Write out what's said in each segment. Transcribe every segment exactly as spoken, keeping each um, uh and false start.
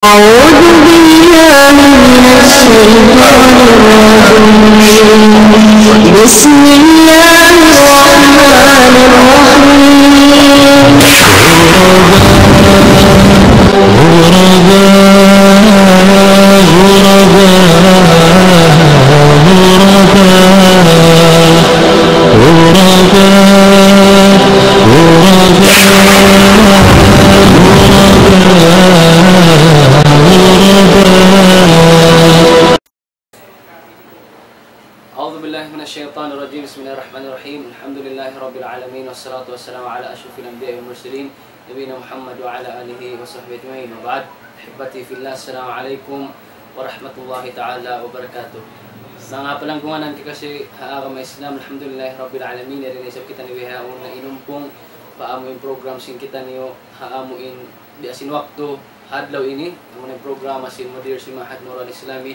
أعوذ بالله من الشيطان الرجيم. بسم الله الرحمن الرحيم. أعوذ بالله من الشيطان الرجيم. بسم الله الرحمن الرحيم. الحمد لله رب العالمين، والصلاة والسلام على أشرف الأنبياء والمرسلين، نبينا محمد وعلى آله وصحبه أجمعين. وبعد، أحبتي في الله، السلام عليكم ورحمة الله تعالى وبركاته. Manga palanggungan kikasi ha agama Islam, alhamdulillahi rabbil alamin, yari na isab kitaniyu bihaun na inumpung pa amu in program sin kitaniyu ha amu in biya' sin waktu ha adlaw ini, amu na in programa sin mudir sin Ma'had Moro Al-Islami,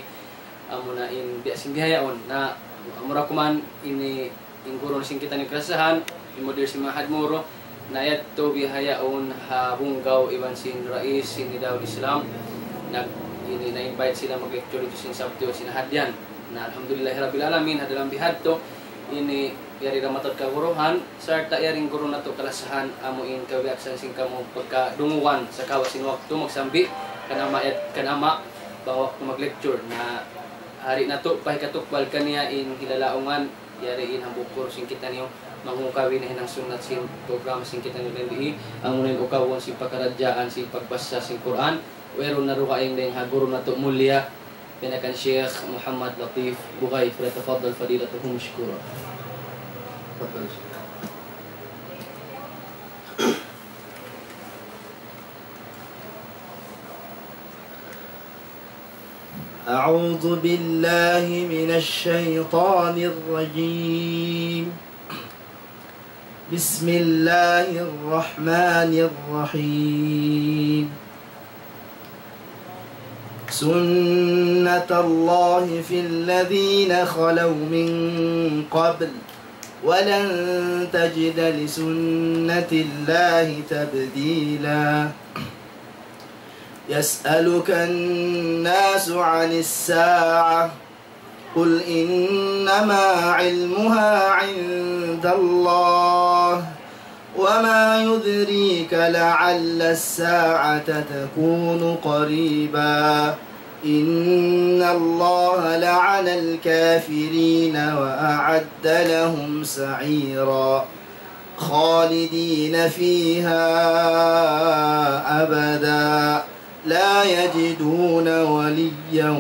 amu na in biya' sin bihaun na, amura kuman ini in guru sin kitaniyu kalasahan, in mudir sin Ma'had Moro, na yadtu bihaun ha Bunggaw iban sin rais sin Nidaul Islam, nag-, ini na-invite sila mag-lecture didtu sin Sabtu sin Ahad yan. Na alhamdulillahi rabbil alamin, ha dalam bihadtu, ini yari da mataud kaguruhan, sarta' yari in guru natu' kalasahan, amu in kabiyaksahan sin kamu pagkadungugan sa' kawa' sin waktu magsambi', kan ama' yat-, kan ama' bang waktu mag-lecture. Na hari natu' pa hikatukbal kaniya in hilalaungan, yari in hambuuk guru sin kitaniyu, mangungkawi na hinang sunnat sin program sin kitaniyu dindi, amuna in ukawun sin pakaradjaan sin pagbasa sin Qur'an, wayruun na dugaing dayn ha guru natu' mulia, pinakan Sheikh Muhammad Latif Bugay, فليتفضل فضيلته مشكورا. تفضل شيخ. أعوذ بالله من الشيطان الرجيم. بسم الله الرحمن الرحيم. سنة الله في الذين خلوا من قبل، ولن تجد لسنة الله تبديلا. يسألك الناس عن الساعة، قل إنما علمها عند الله، وما يدريك لعل الساعة تكون قريبا. إن الله لعن الكافرين وأعد لهم سعيرا. خالدين فيها أبدا، لا يجدون وليا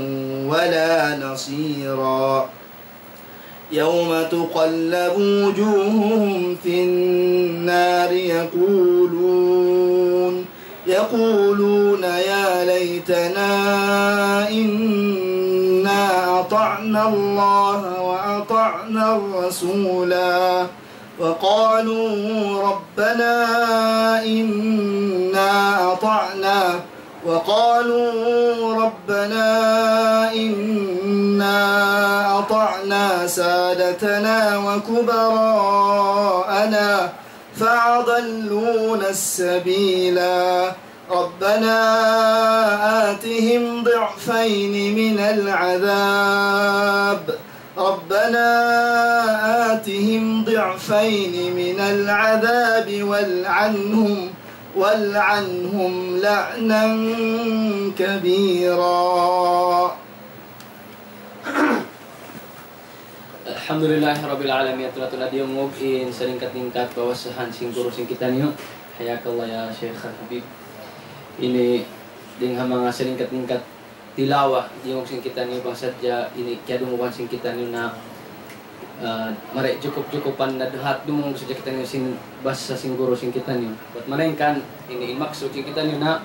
ولا نصيرا. يوم تقلب وجوههم في النار يقولون، يقولون يا ليتنا إنا أطعنا الله وأطعنا الرسولا. وقالوا ربنا إنا أطعنا، وقالوا ربنا إنا أطعنا سادتنا وكبراءنا فأضلونا السبيلا. ربنا آتهم ضعفين من العذاب، ربنا آتهم ضعفين من العذاب والعنهم، والعنهم لعنا كبيرا. Alhamdulillahi Rabbil Alamin, tula-tula diyungug in salingkat-lingkat bawasahan sin guru sin kitaniyu. Hayakallah ya Sheikh Habib. Ini dayn ha manga salingkat-lingkat tilawa, diyungug sin kitaniyu bang sadja ini kiyadungugan sin kitaniyu na, ah, mari jukup-jukupan na duhat dumungug sadja kitaniyu sin basa sin guru sin kitaniyu. Bat malaingkan ini in maksud sin kitaniyu na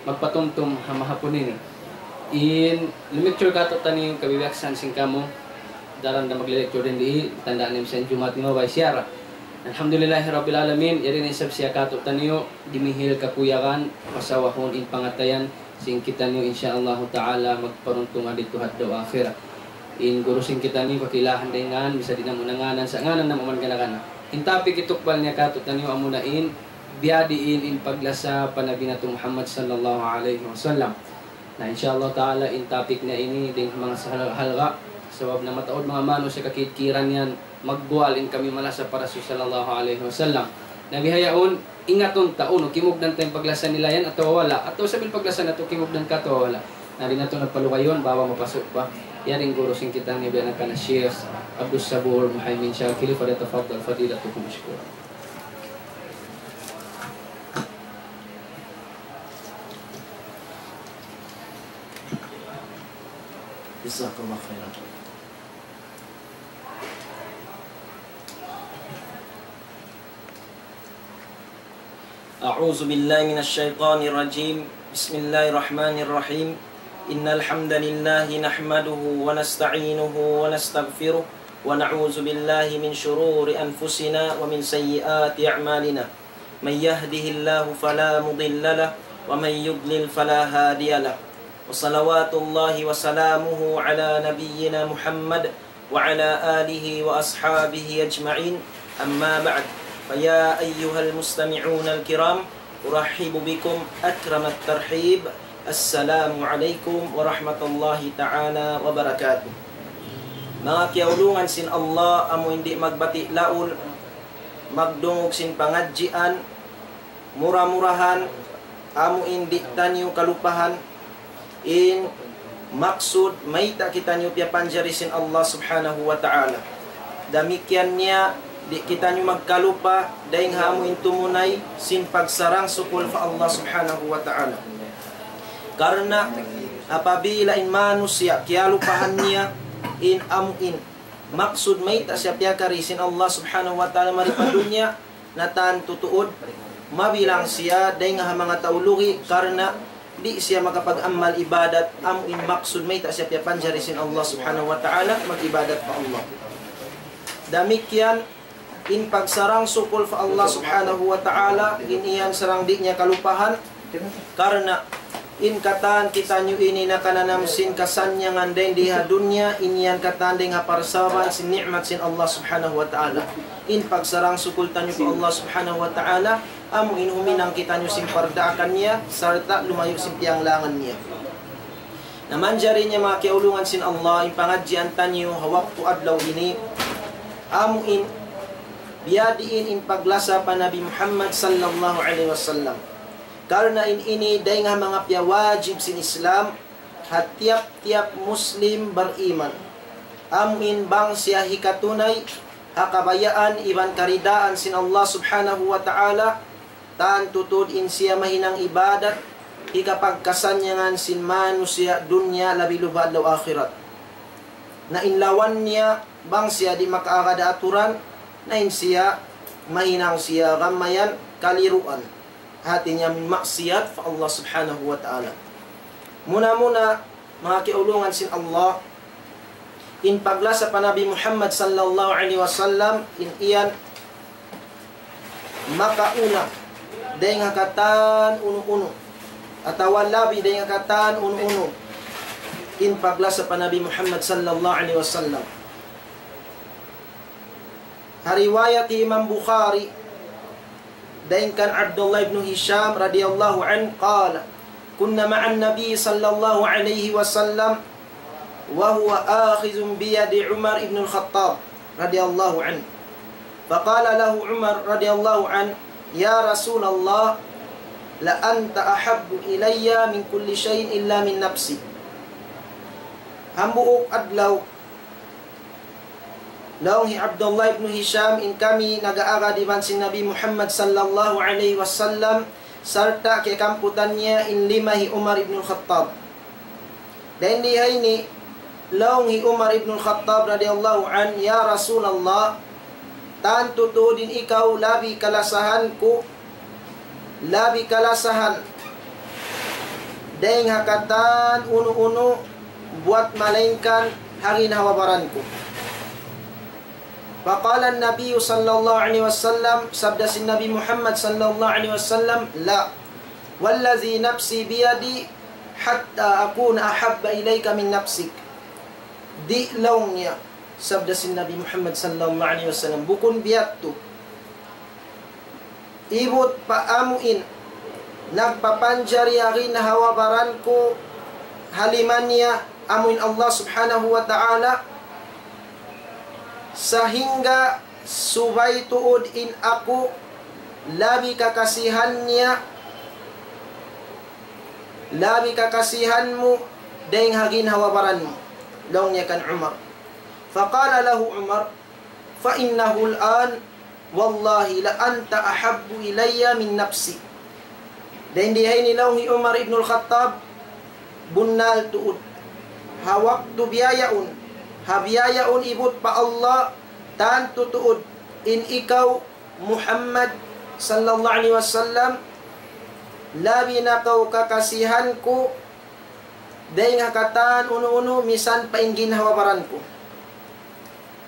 magpatumtum ha mahapun ini. In lumiktur katu'taniyu kabiyaksahan sin kamu, daran da magli-lecture dindi, tanda' niyu misan Jumaat ni mabay siyara. Alhamdulillahi Rabbil Alamin, yari na isab siya katu'taniyu, dimihil kakuyagan, pasawahun in pangatayan sin kitaniyu, insya Allahu Ta'ala, magparuntungan didtu ha adlaw akhirat. In guru sin kitaniyu, kakilahan da in ngan, misan di' namu' na nganan, sa' nganan namu' man gana-gana. In topic hitukbal niya katu'taniyu, amuna in, biyadiin in paglasa pa Nabi natu' Muhammad sallallahu alayhi wasallam. Na, insha Allah ta'ala, in topic na ini dayn ha manga sahalga'-halga', sabab na mataud manga manusiya' kakidkiran yan, magguwal in kami malasa pa Rasul sallallahu alayhi wasallam. Na bihaun, ingatun ta, unu, kimugdan ta in paglasa nila yan, atawa wala', atawa sambil paglasa natu', kimugdan ka, atawa wala'. Na di' natu' na palugayun, bang mapasu' pa. Yari in guru sin kita, ini biya' na kan Sheikh Abdus Sabur Muhaymin Shakili, فليتفضل فضيلته مشكورا. جزاك الله خيرا. أعوذ بالله من الشيطان الرجيم. بسم الله الرحمن الرحيم. إن الحمد لله نحمده ونستعينه ونستغفره ونعوذ بالله من شرور أنفسنا ومن سيئات أعمالنا. من يهده الله فلا مضل له ومن يضلل فلا هادي له. وصلوات الله وسلامه على نبينا محمد وعلى آله وأصحابه أجمعين. أما بعد، فيا أيها المستمعون الكرام، أرحب بكم أكرم الترحيب. السلام عليكم ورحمة الله تعالى وبركاته. Manga kiyaulungan sin Allah, amu in di' magbati' laul, magdungug sin pangadjian, mura-murahan, amu in di' taniyu kalupahan, in maksud mayta' kitaniyu piyapanjari sin Allah Subhanahu wa Ta'ala. Damikkiyan niya, di' kitaniyu magkalupa, dayng ha amu in tumunay sin pagsarang-sukul pa Allah Subhanahu wa Ta'ala. Karna' apabila in manusiya' kiyalupahan niya in amu in maksud mayta' siya piyakari sin Allah Subhanahu wa Ta'ala mari pa dunya, na tantu tuud mabilang siya dayng ha manga tau lugi', karna' di' siya makapag-amal ibadat, amu in maksud mayta' siya piyapanjari sin Allah Subhanahu wa Ta'ala mag-ibadat pa Allah. Damikkiyan in pagsarang-sukul pa Allah Subhanahu wa Ta'ala, in yan sarang di' niya kalupahan, karna' in katan kitaniyu ini nakananam sin kasannyangan dayng di ha dunya, in yan katan dayng ha parsababan sin ni'mat sin Allah Subhanahu wa Ta'ala. In pagsarang-sukul taniyu pa Allah Subhanahu wa Ta'ala, amu in huminang kitaniyu sin pardaakan niya, sarta' lumayu' sin piyanglangan niya. Na manjari niya manga kiyaulungan sin Allah, in pangadjian taniyu ha waktu adlaw ini, amu in biyadiin in paglasa pa Nabi Muhammad sallallahu alayhi wasallam. Karna' in ini dayng ha manga piyawajib sin Islam, ha tiyap-tiyap Muslim bariman. Amu in bang siya hikatunay ha kabayaan iban karidaan sin Allah Subhanahu wa Ta'ala, tantu tuud in siya mahinang ibadat, hikapagkasannyangan sin manusiya' dunya labi luba adlaw akhirat. Na in lawan niya, bang siya di' makaagad aturan, na in siya mahinang siya gamayan kaliruan. Hati niya maksiyat pa Allah Subhanahu wa Ta'ala. Muna-muna, manga kiyaulungan sin Allah, in paglasa pa Nabi Muhammad sallallahu alayhi wasallam, in yan makauna dayng ha katan unu-unu, atawa labi dayng ha katan unu-unu, in paglasa pa Nabi Muhammad sallallahu alayhi wasallam. Ha riwayat Imam Bukhari, dayng kan Abdullah ibn Hisham radiyallahu anhu, قال: كنا مع النبي صلى الله عليه وسلم وهو آخذ بيد عمر بن الخطاب رضي الله عنه، فقال له عمر رضي الله عنه: يا رسول الله، لأنت أحب إلي من كل شيء إلا من نفسي. Hambuuk adlaw, laung hi Abdullah ibn Hisham, in kami nag-aagad iban sin Nabi Muhammad sallallahu alayhi wasallam, sarta' kiyakamputan niya in lima hi Umar ibn al-Khattab. Dayn di ha ini, laung hi Umar ibn al-Khattab radiyallahu anhu, "Ya Rasulullah, tantu tuud in ikaw labi kalasahan ku, labi kalasahan dayng ha katan unu-unu buwat malaingkan ha ginhawa-baran ku." فقال النبي صلى الله عليه وسلم, sabda sin Nabi Muhammad sallallahu alayhi wasallam, لا، والذي نفسي بيده حتى أكون أحب إليك من نفسك. Di', laung niya, sabda sin Nabi Muhammad sallallahu alayhi wasallam, bukun biya' tu, ibut pa amu in nagpapanjari ha ginhawa-baran ku, ha lima niya, amuin Allah Subhanahu wa Ta'ala, sahingga subay tuud in aku labi kakasihan niya, labi kakasihan mu, dayng ha ginhawa-baran mu. Laung niya kan Umar. فقال له عمر: فإنه الآن والله لأنت أحب إلي من نفسي. Dayn di ha ini laung hi Umar ibnul Khattab, bunnal tuud. Ha waktu bihaun, ha bihaun ibut pa Allah, tantu tuud in ikaw Muhammad sallallahu alayhi wasallam, labi na kaw kakasihan ku, dayng ha katan unu-unu misan pa in ginhawa-baran ku.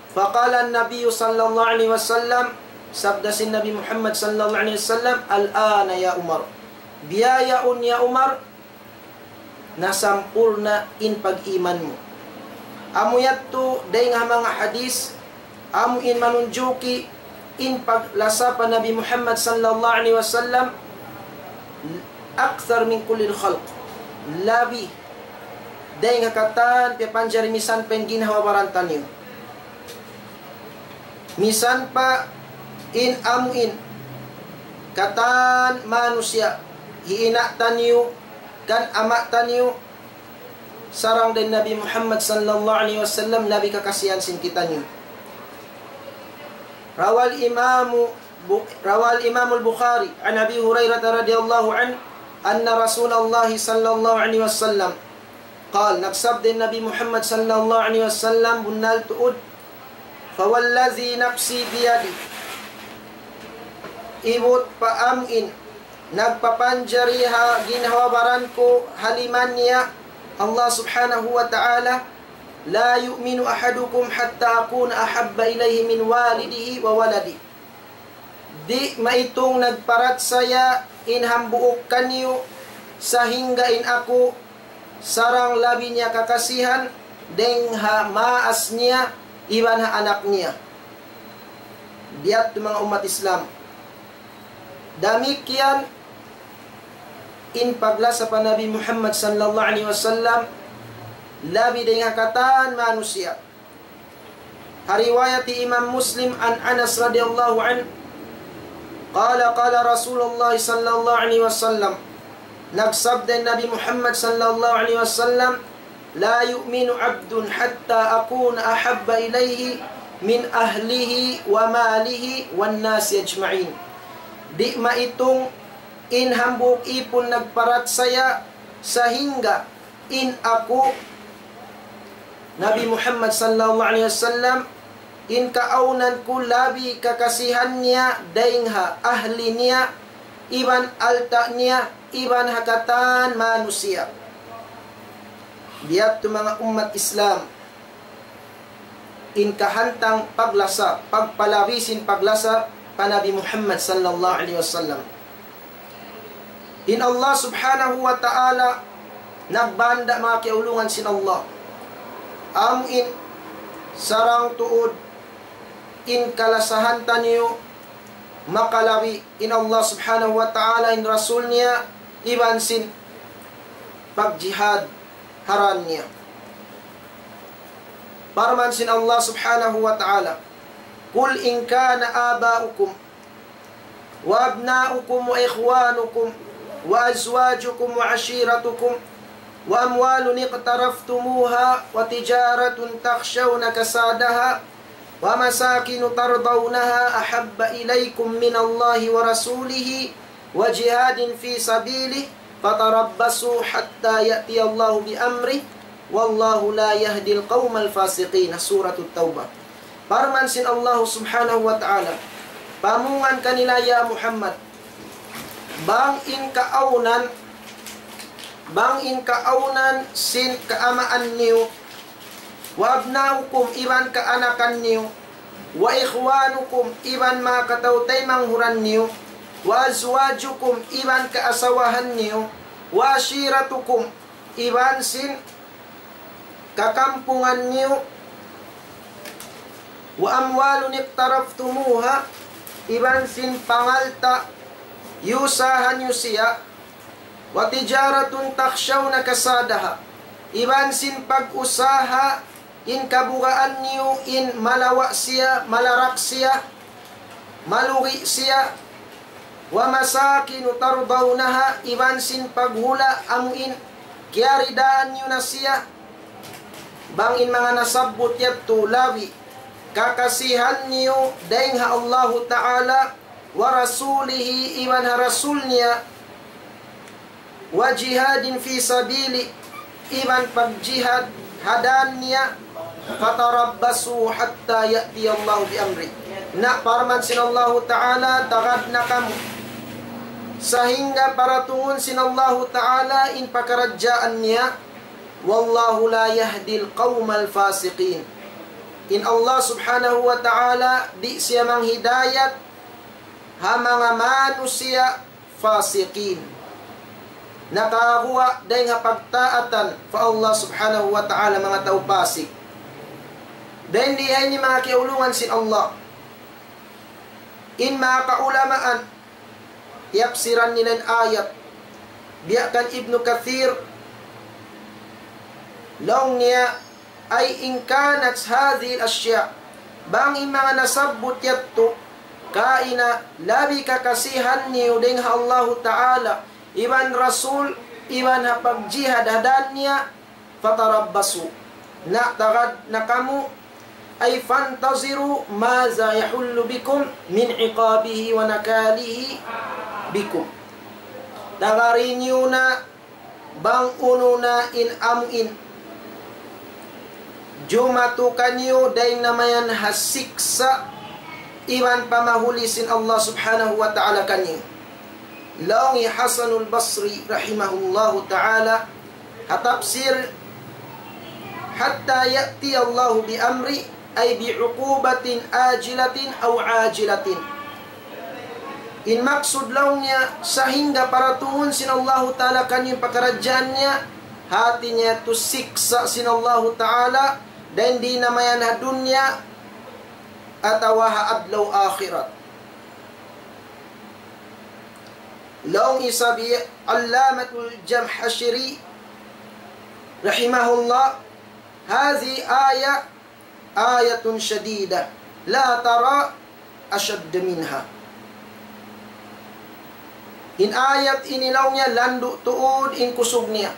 فقال النبي صلى الله عليه وسلم, sabda sin Nabi Muhammad sallallahu alayhi wasallam, الآن يا عمر. Bihaun ya Umar, nasampurna' in pag-iman mu. Amu yadtu dayng ha manga hadith, amu in manunjuki in paglasa pa Nabi Muhammad sallallahu alayhi wasallam, أكثر من كل الخلق. Labi dayng ha katan piyapanjari misan pa in ginhawa-baran taniyu. Misan pa in amu in katan manusiya', hi ina' taniyu, kan ama' taniyu, sarang dayn Nabi Muhammad sallallahu alayhi wasallam labi kakasihan sin kitaniyu. روى الإمام ب-، روى الإمام البخاري عن أبي هريرة رضي الله عنه أن رسول الله صلى الله عليه وسلم قال, nagsabda in Nabi Muhammad sallallahu alayhi wasallam, bunnal tuud, فوالذي نفسي بيده, ibut pa amu in nagpapanjari ha ginhawa-baran ku ha lima niya Allah Subhanahu wa Ta'ala, لا يؤمن أحدكم حتى أكون أحب إليه من والده وولده. Di' maitung nagparachaya in hambuuk kaniyu sahingga in aku sarang labi niya kakasihan dayng ha maas niya iban ha anak niya. Biya' ha yan manga ummat Islam. Damikkiyan in paglasa pa Nabi Muhammad sallallahu alayhi wasallam, labi dayng ha katan manusiya'. Ha riwayat Imam Muslim عن أنس رضي الله عنه قال قال رسول الله صلى الله عليه وسلم, nagsabda in Nabi Muhammad sallallahu alayhi wasallam, لا يؤمن عبد حتى أكون أحب إليه من أهله وماله والناس أجمعين. Di' maitung in hambuuk ipun nagparachaya sahingga in aku, Nabi Muhammad sallallahu alayhi wasallam, in kaawnan ku labi kakasihan niya dayng ha ahli niya, iban alta' niya, iban ha katan manusiya'. Biya' ha yan manga ummat Islam, in kahantang paglasa, pagpalabi sin paglasa pa Nabi Muhammad sallallahu alayhi wasallam. In Allah Subhanahu wa Ta'ala nagbanda' manga kiyaulungan sin Allah. Amu in sarang tuud in kalasahan taniyu makalabi in Allah Subhanahu wa Ta'ala, in Rasul niya, iban sin pagjihad ha dān niya. Parman sin Allah Subhanahu wa Ta'ala, قل إن كان آباؤكم وأبناؤكم وإخوانكم وأزواجكم وعشيرتكم وأموال اقترفتموها وتجارة تخشون كسادها ومساكن ترضونها أحب إليكم من الله ورسوله وجهاد في سبيله فتربصوا حتى يأتي الله بأمره والله لا يهدي القوم الفاسقين. Suratul Tawbah. Parman sin Allah Subhanahu wa Ta'ala, pamungan kanila ya Muhammad, bang in kaawnan, bang in kaawnan sin kaamaan niyu, وأبناؤكم, iban kaanakan niyu, وإخوانكم, iban manga kataw-taymanghuran niyu, وأزواجكم, iban kaasawahan niyu, وعشيرتكم, iban sin kakampungan niyu, وأموال اقترفتموها, iban sin pangalta' iyusahan niyu siya, وتجارة تخشون كسادها, iban sin pag-usaha in kabugaan niyu in malawa' siya, malarak siya, malugi siya, ومساكن ترضونها, iban sin paghula' amu in kiyaridaan niyu na siya. Bang in manga nasabbut yadtu labi kakasihan niyu dayn ha Allahu Ta'ala, ورسوله, iban ha Rasul niya, وجهاد في سبيله, iban pagjihad ha dan niya, فتربصوا حتى يأتي الله بأمره. Na parman sin Allahu Ta'ala, tagad na kamu sahingga paratungun sin Allahu Ta'ala in pakaradjaan niya. والله لا يهدي القوم الفاسقين. In Allah Subhanahu wa Ta'ala di' siya manghidayat ha manga manusiya' fasiqin. Nakaguwa' dayn ha pagtaatan pa Allah Subhanahu wa Ta'ala manga tau pasik. Dayn di ha ini manga kiyaulungan sin Allah. In manga kaulamaan, tiyapsiran nila in ayat. Biya' kan Ibnu Kathir, laung niya, أي إن كانت هذه الأشياء, bang in manga nasabbut yadtu, kaina labi kakasihan niyu dayn ha Allahu Ta'ala, iban Rasul, iban ha pagjihad ha dan niya, فتربصوا. Na tagad na kamu, أي فانتظروا ماذا يحل بكم من عقابه ونكاله بكم. Tagari niyu na bang unu na in amu in jumatu kaniyu dayn na mayan ha siksa' iban pamahuli sin Allah Subhanahu wa Ta'ala kaniyu. Laung hi Hasanul Basri rahimahullahu ta'ala ha tafsir, حتى يأتي الله بأمره أي بعقوبة آجلة أو عاجلة. In maksud laung niya, sahingga paratungun sin Allahu Ta'ala kaniyu in pakaradjaan niya, hati niya tu siksa' sin Allahu Ta'ala, dayn di na mayan ha dunya, atawa ha adlaw akhirat. Laung isab hi Allamatul Jamhashiri rahimahullah, هذه آية، آية شديدة، لا ترى أشد منها. In ayat ini laung niya landu' tuud in kusug niya.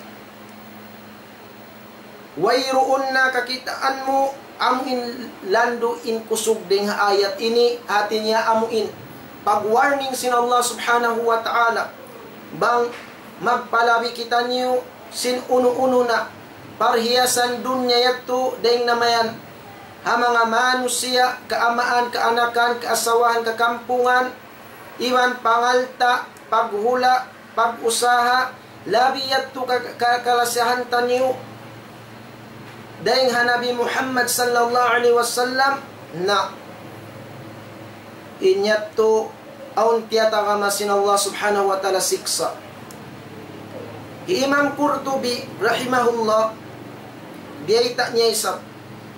Wayruun na kakitaan mu amu in landu' in kusug dayn ha ayat ini, hati niya amu in pag-warning sin Allah Subhanahu wa Ta'ala. Bang magpalabi kitaniyu sin unu-unu na parhiyasan dunya yadtu dayn na mayan ha manga manusiya', kaamaan, kaanakan, kaasawahan, kakampungan, iban pangalta', paghula', pag-usaha, labi yadtu ka, ka, kalasahan taniyu dayn ha Nabi Muhammad sallallahu alayhi wasallam, na in yadtu awn tiyatagama sin Allah Subhanahu wa Ta'ala siksa'. Hi Imam Qurtubi rahimahullah, biyayta' niya isab,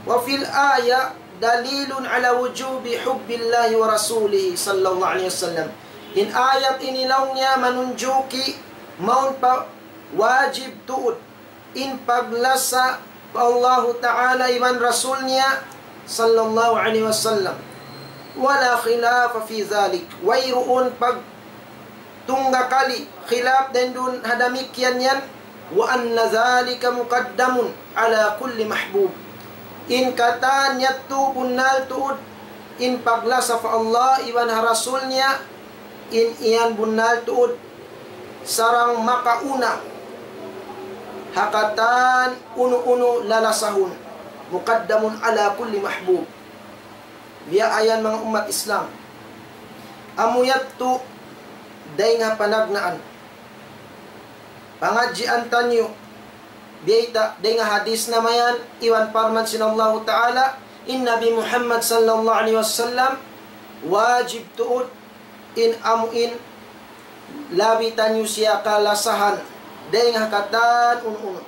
وفي الآية دليل على وجوب حب الله ورسوله صلى الله عليه وسلم. In ayat ini laung niya manunjuki mawn pa wajib tuud in paglasa pa Allahu Ta'ala iban Rasul niya sallallahu alayhi wasallam. ولا خلاف في ذلك. Wayruun pagtunggakali, khilaf dayn duun ha damikkiyan yan. وأن ذلك مقدم على كل محبوب. In katan yadtu bunnal tuud in paglasa pa Allah iban ha Rasul niya, in iyan bunnal tuud sarang makauna ha katan unu-unu lalasahun. مقدم على كل محبوب. Biya' yan manga ummat Islam. Amu yadtu dayn ha panagnaan pangadjian taniyu, biyayta' dayn ha hadis na mayan, iban parman sin Allahu Ta'ala, in Nabi Muhammad sallallahu alayhi wasallam, wajib tuud in amu in labi taniyu siya kalasahan dayn ha katan unu-unu.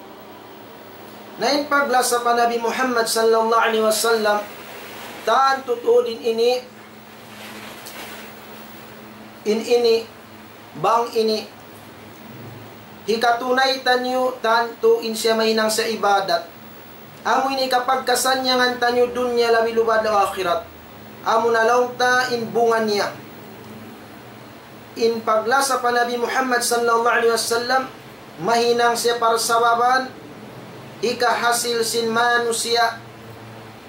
Na in paglasa pa Nabi Muhammad sallallahu alayhi wasallam, tantu tuud in ini, in ini, bang ini hikatunay taniyu tantu in siya mahinang sa ibadat. Amu ini kapagkasannyangan taniyu dunya labi lubad na akhirat. Amu na laung ta in bunga niya. In paglasa pa Nabi Muhammad sallallahu alaihi wasallam, mahinang siya parsababan, hikahasil sin manusiya',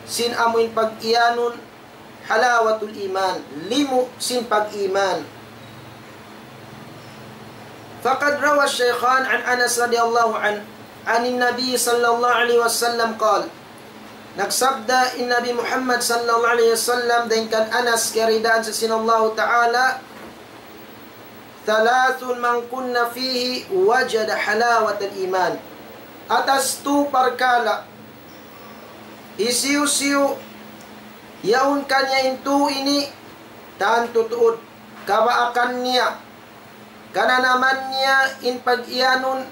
sin amu in pag-iyanun, halawatul iman, limu' sin pag-iman. فقد روى الشيخان عن أنس رضي الله عنه عن النبي صلى الله عليه وسلم قال, nagsabda in Nabi Muhammad sallallahu alaihi wasallam dayn kan Anas, kiyaridaan sa sin Allahu Ta'ala, ثلاث من كن فيه وجد حلاوة الإيمان. Atas tu parkala', hisiyu-siyu yaun kaniya in tu ini, tantu tuud, kabaakan niya, kananaman niya in pag-iyanun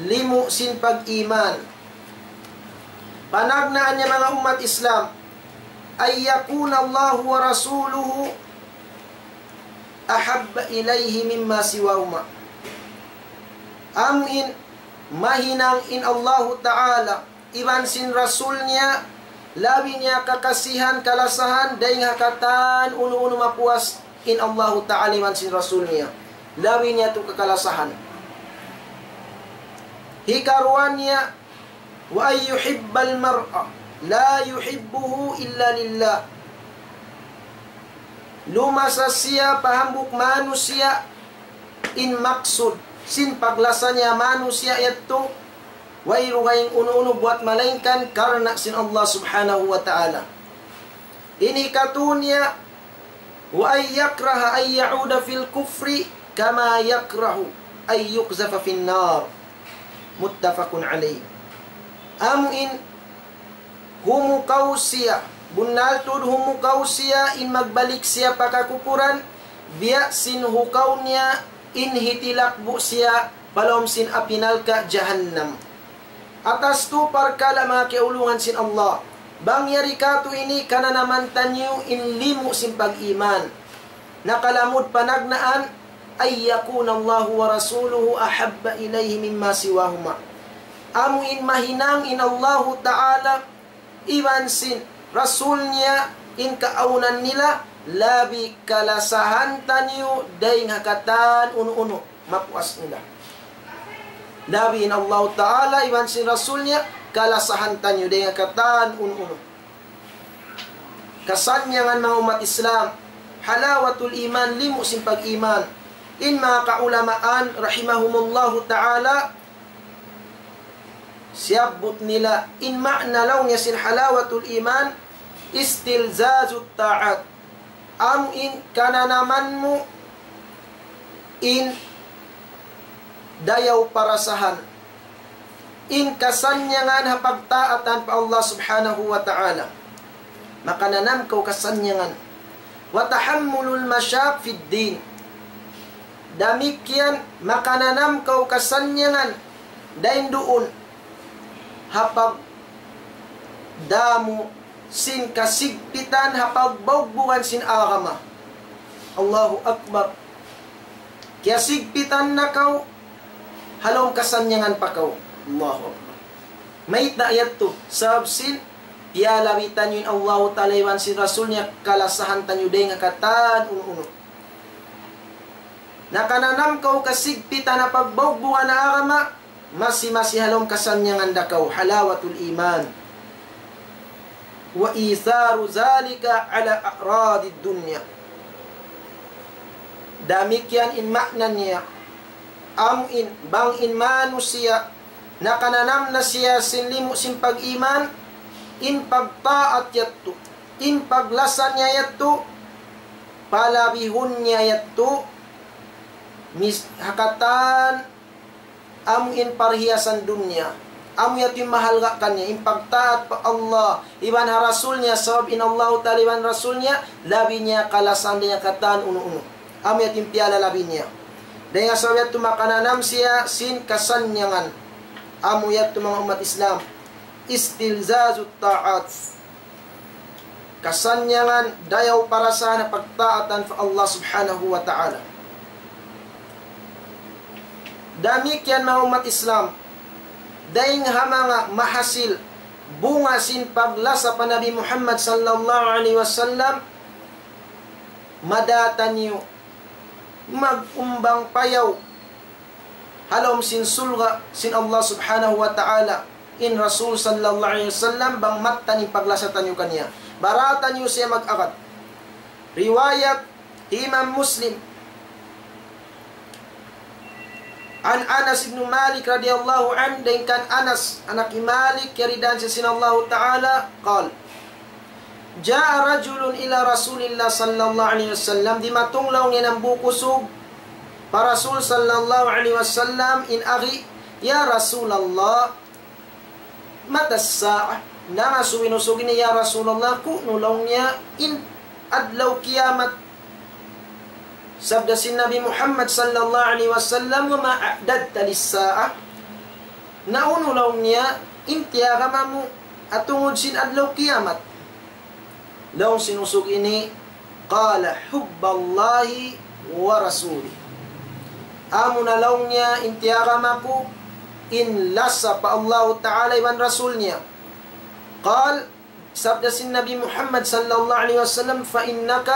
limu' sin pag-iman. Panagnaan niya manga ummat Islam, أن يكون الله ورسوله أحب إليه مما سواهما. Amu in mahinang in Allahu Ta'ala iban sin Rasul niya, labi niya kakasihan, kalasahan, dayn ha katan unu-unu mapuas in Allahu Ta'ala iban sin Rasul niya. Labi niya tu kakalasahan. Hikaruwa niya, وأن يحب المرء لا يحبه إلا لله. Lumasa siya pa hambuuk manusiya' in maksud sin paglasa niya manusiya' yadtu, way dugaing unu-unu buwat malaingkan karna' sin Allah Subhanahu wa Ta'ala. Ini katu niya, وأن يكره أن يعود في الكفر كما يكره أن يقذف في النار. متفق عليه. Amu in humukaw siya, bunnal tuud humukaw siya in magbalik siya pa kakupuran, biya' sin hukaw niya in hitilakbu' siya pa lawm sin api narka' jahannam. Atas tu parkala' manga kiyaulungan sin Allah. Bang yari katu' ini kananaman taniyu in limu' sin pag-iman. Nakalamud panagnaan, أن يكون الله ورسوله أحب إليه مما سواهما. Amu in mahinang in Allahu Ta'ala iban sin Rasul niya in kaawnan nila labi kalasahan taniyu dayn ha katan unu-unu mapuas nila. Labi in Allahu Ta'ala iban sin Rasul niya kalasahan taniyu dayn ha katan unu-unu. Kasannyangan manga ummat Islam, halawatul iman, limu' sin pag-iman. In manga kaulamaan rahimahumullahu ta'ala, siyabbut nila in ma'na laung niya sin halawatul iman, istilzazut ta'at. Amu in kananaman mu in dayaw parasahan, in kasannyangan ha pagtaatan pa Allah Subhanahu wa Ta'ala. Makananam kaw kasannyangan. وتحمل المشاق في الدين. Damikkiyan makananam kaw kasannyangan dayn duun ha pagdamu sin kasigpitan ha pagbaugbugan sin agama. Allahu Akbar. Kiyasigpitan na kaw, ha lawm kasannyangan pa kaw. Allahu Akbar. Mayta' yadtu? Sabab sin piyalabi taniyu in Allahu Ta'ala iban sin Rasul niya, kalasahan taniyu dayn ha katan unu-unu. Nakananam kaw kasigpitan ha pagbaugbugan ha agama, masi-masi ha lawm kasannyangan da kaw, halawatul iman. وإيثار ذلك على أعراض الدنيا. Damikkiyan in ma'na niya. Amu in, bang in manusiya', nakananam na siya sin limu' sin pag-iman, in pagtaat yadtu, in paglasa niya yadtu, palabihun niya yadtu, mis-, ha katan amu in parhiyasan dunya. Amu yadtu in mahalga' kaniya, in pagtaat pa Allah iban ha Rasul niya, sabab in Allahu Ta'ala iban Rasul niya, labi niya kalasahan dayn ha katan unu-unu. Amu yadtu in piyalalabi niya. Dayn ha sabab yadtu makananam siya sin kasannyangan. Amu yadtu manga ummat Islam, istilzazut ta'at. Kasannyangan, dayaw parasahan ha pagtaatan pa Allah Subhanahu wa Ta'ala. Damikkiyan manga ummat Islam, dayn ha manga mahasil bunga sin paglasa pa Nabi Muhammad sallallahu alayhi wasallam, mada taniyu mag-umbang payaw ha lawm sin surga' sin Allah subhanahu wa ta'ala in Rasul sallallahu alayhi wasallam bang mattan in paglasa taniyu kaniya. Bara taniyu siya mag-agad. Riwayat Imam Muslim. عن أنس بن مالك رضي الله عنه, dayn kan Anas, anak hi Malik, kiyaridaan siya sin Allahu Ta'ala, قال: جاء رجل إلى رسول الله صلى الله عليه وسلم, dimatung laung niya hambuuk usug pa Rasul sallallahu alayhi wasallam in agi, يا رسول الله، متى الساعة؟ Nangasubu in usug ini, "Ya Rasulullah, ku'nu laung niya in adlaw kiyamat?" Sabda sin Nabi Muhammad sallallahu alayhi wasallam, "وما أعددت للساعة؟" Na unu laung niya in tiyagama mu tungud sin adlaw kiyamat? Laung sin usug ini, قال: حب الله ورسوله. Amuna laung niya in tiyagama ku, in lasa pa Allahu Ta'ala iban Rasul niya. قال, sabda sin Nabi Muhammad sallallahu alayhi wasallam, فإنك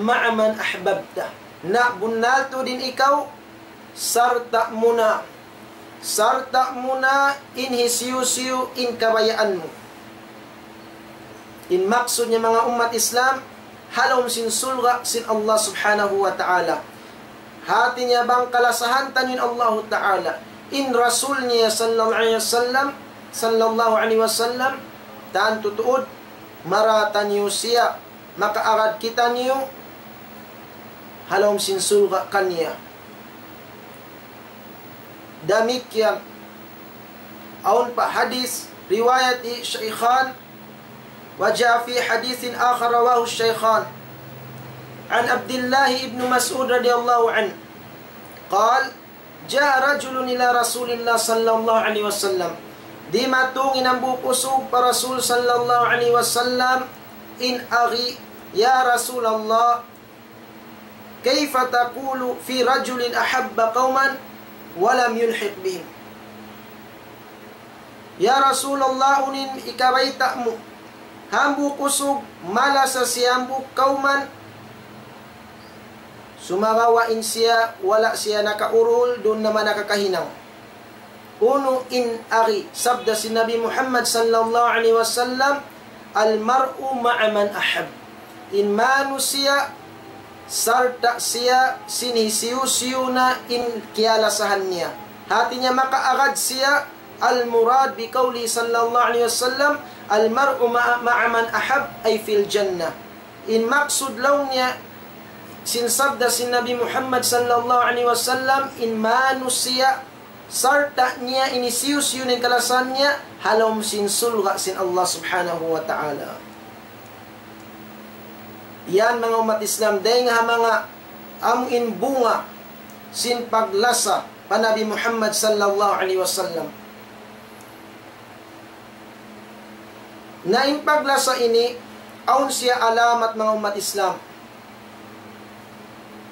مع من أحببت. Na bunnal tuud in ikaw, sarta' mu na, sarta' mu na in hisiyu-siyu in kabayaan mu. In maksud niya manga ummat Islam, ha lawm sin surga' sin Allah subhanahu wa ta'ala. Hati niya bang kalasahan taniyu in Allahu ta'ala, in Rasul niya sallallahu alayhi wasallam, sallallahu alayhi wasallam, tantu tuud, mara taniyu siya, makaagad kitaniyu ha lawm sin surga' kaniya. Damikkiyan awn pa hadith riwayat Shaykhan, وجاء في حديث آخر رواه الشيخان عن عبد الله بن مسعود رضي الله عنه قال: جاء رجل إلى رسول الله صلى الله عليه وسلم. Dimatung in hambuuk usug pa Rasul sallallahu alayhi wasallam in agi, "Ya Rasulullah, كيف تقول في رجل أحب قوما ولم يلحق بهم؟" Ya Rasulullah, unu in ikabayta' mu, hambuuk usug malasa siya hambuuk kawman, sumagawa' in siya wala' siya nakaurul, duun naman nakakahinang. Unu in agi? Sabda sin Nabi Muhammad sallallahu alayhi wasallam, المرء مع من أحب. In manusiya' sarta' siya sin hisiyu-siyu na in kiyalasahan niya. Hati niya makaagad siya, المراد بقوله صلى الله عليه وسلم: المرء مع، مع من أحب، أي في الجنة. In maksud laung niya sin sabda sin Nabi Muhammad sallallahu alayhi wasallam, in manusiya' sarta' niya in hisiyu-siyu na in kalasahan niya, ha lawm sin surga' sin Allah subhanahu wa ta'ala. Yan manga ummat Islam, dayn ha manga amu in bunga sin paglasa pa Nabi Muhammad sallallahu alayhi wasallam. Na in paglasa ini, awn siya alamat manga ummat Islam.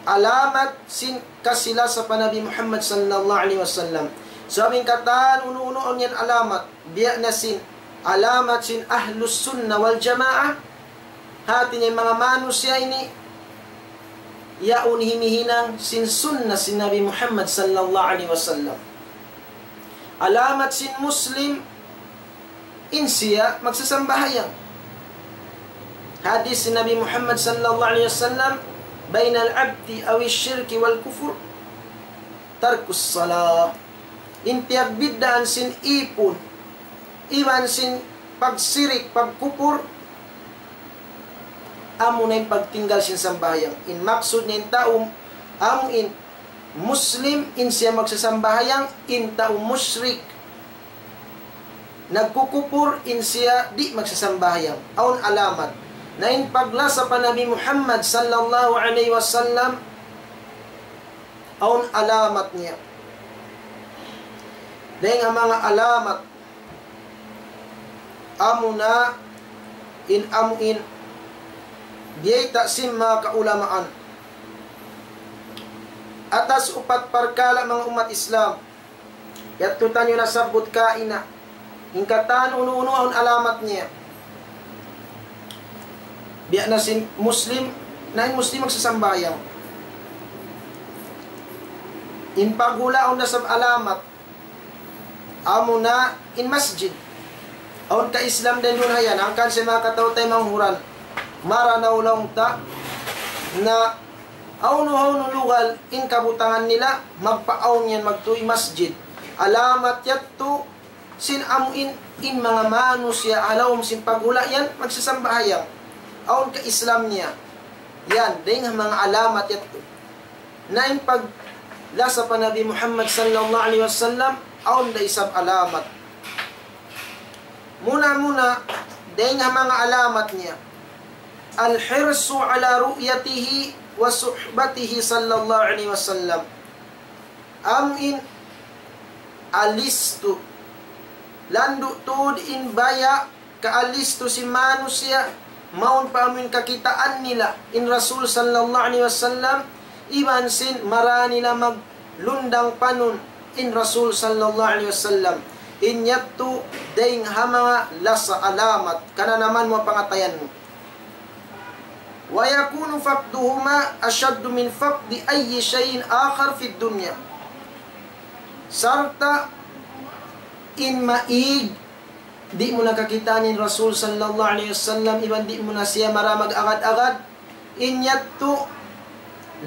Alamat sin kasi-lasa pa Nabi Muhammad sallallahu alayhi wasallam. Sabab in katan unu-unu awn yan alamat, biya' na sin alamat sin Ahlus Sunnah wal Jamaah, hati niya manga manusiya' ini, yaun himihinang sin sunnah sin Nabi Muhammad sallallahu alayhi wasallam. Alamat sin Muslim, in siya magsasambahayang. Hadith sin Nabi Muhammad sallallahu alayhi wasallam, بين العبد أو الشرك والكفر ترك الصلاة. In piyagbiddaan sin ipun, iban sin pagsirik, pagkupur, amu na in pagtinggal sin sambahayang. In maksud niya in tau, amu in Muslim, in siya magsasambahayang, in tau mushrik, nagkukupur, in siya di' magsasambahayang. Awn alamat. Na in paglasa pa Nabi Muhammad sallallahu alayhi wasallam, awn alamat niya. Dayn ha manga alamat, amuna in amu in biyayta' sin manga kaulamaan. Atas upat parkala' manga ummat Islam. Yadtu taniyu nasabbut kaina. In katan unu-unu awn alamat niya. Biya' na sin Muslim, na in Muslim magsasambahayang. In paghula' awn da isab alamat. Amuna in masjid. Awn ka Islam dayn duun ha yan, hangkan sin manga kataw-taymanghuran. Maranaw laung ta, na hawnu-hawnu lugal in kabutangan nila, magpaawn yan magtuy masjid. Alamat yadtu, sin amu in, in manga manusiya' ha lawm sin paghula' yan, magsasambahayang. Awn ka Islam niya. Yan, dayn ha manga alamat yadtu. Na in paglasa pa Nabi Muhammad sallallahu alayhi wasallam, awn da isab alamat. Muna-muna, dayn ha manga alamat niya. الحرص على رؤيته وصحبته صلى الله عليه وسلم. Amu in alistu. Landu' tuud in baya' kaalistu sin manusiya', mawn pa amu in kakitaan nila in Rasul sallallahu alayhi wasallam, iban sin mara nila maglundang panun in Rasul sallallahu alayhi wasallam. In yadtu dayn ha manga lasa alamat, kananaman mu pangatayan mu. ويكون فقدهما أشد من فقد أي شيء آخر في الدنيا. Sarta' in maig, di' mu na kakitaan in Rasul sallallahu alayhi wasallam, iban di' mu na siya mara mag-agad-agad, in yadtu,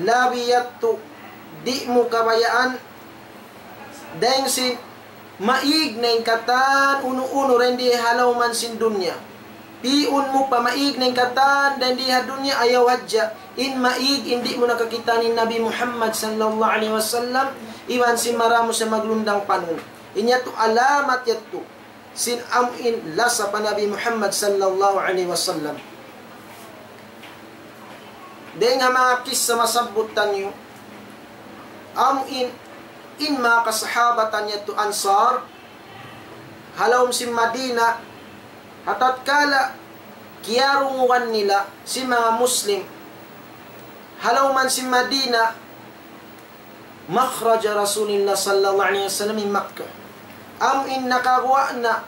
labi yadtu, di' mu kabayaan, dayn sin maig na in katan unu-unu dayn di ha lawm sin dunya. Pi'un mu pa maig na in katan dayn di ha dunya, ayaw hadja. In maig in di' mu na kakitaan in Nabi Muhammad sallallahu alayhi wasallam, iban sin mara mu siya maglundang panun. In yadtu alamat yadtu sin amu in lasa pa Nabi Muhammad sallallahu alayhi wasallam. Dayn ha manga kissa masabbut taniyu, amu in, in manga kasahabatan yadtu Ansar, ha lawm sin Madina, ha tatkala kiyarungugan nila sin manga Muslim ha lawm sin Madina, مخرج رسول الله صلى الله عليه وسلم من مكة. Amu in nakaguwa' na,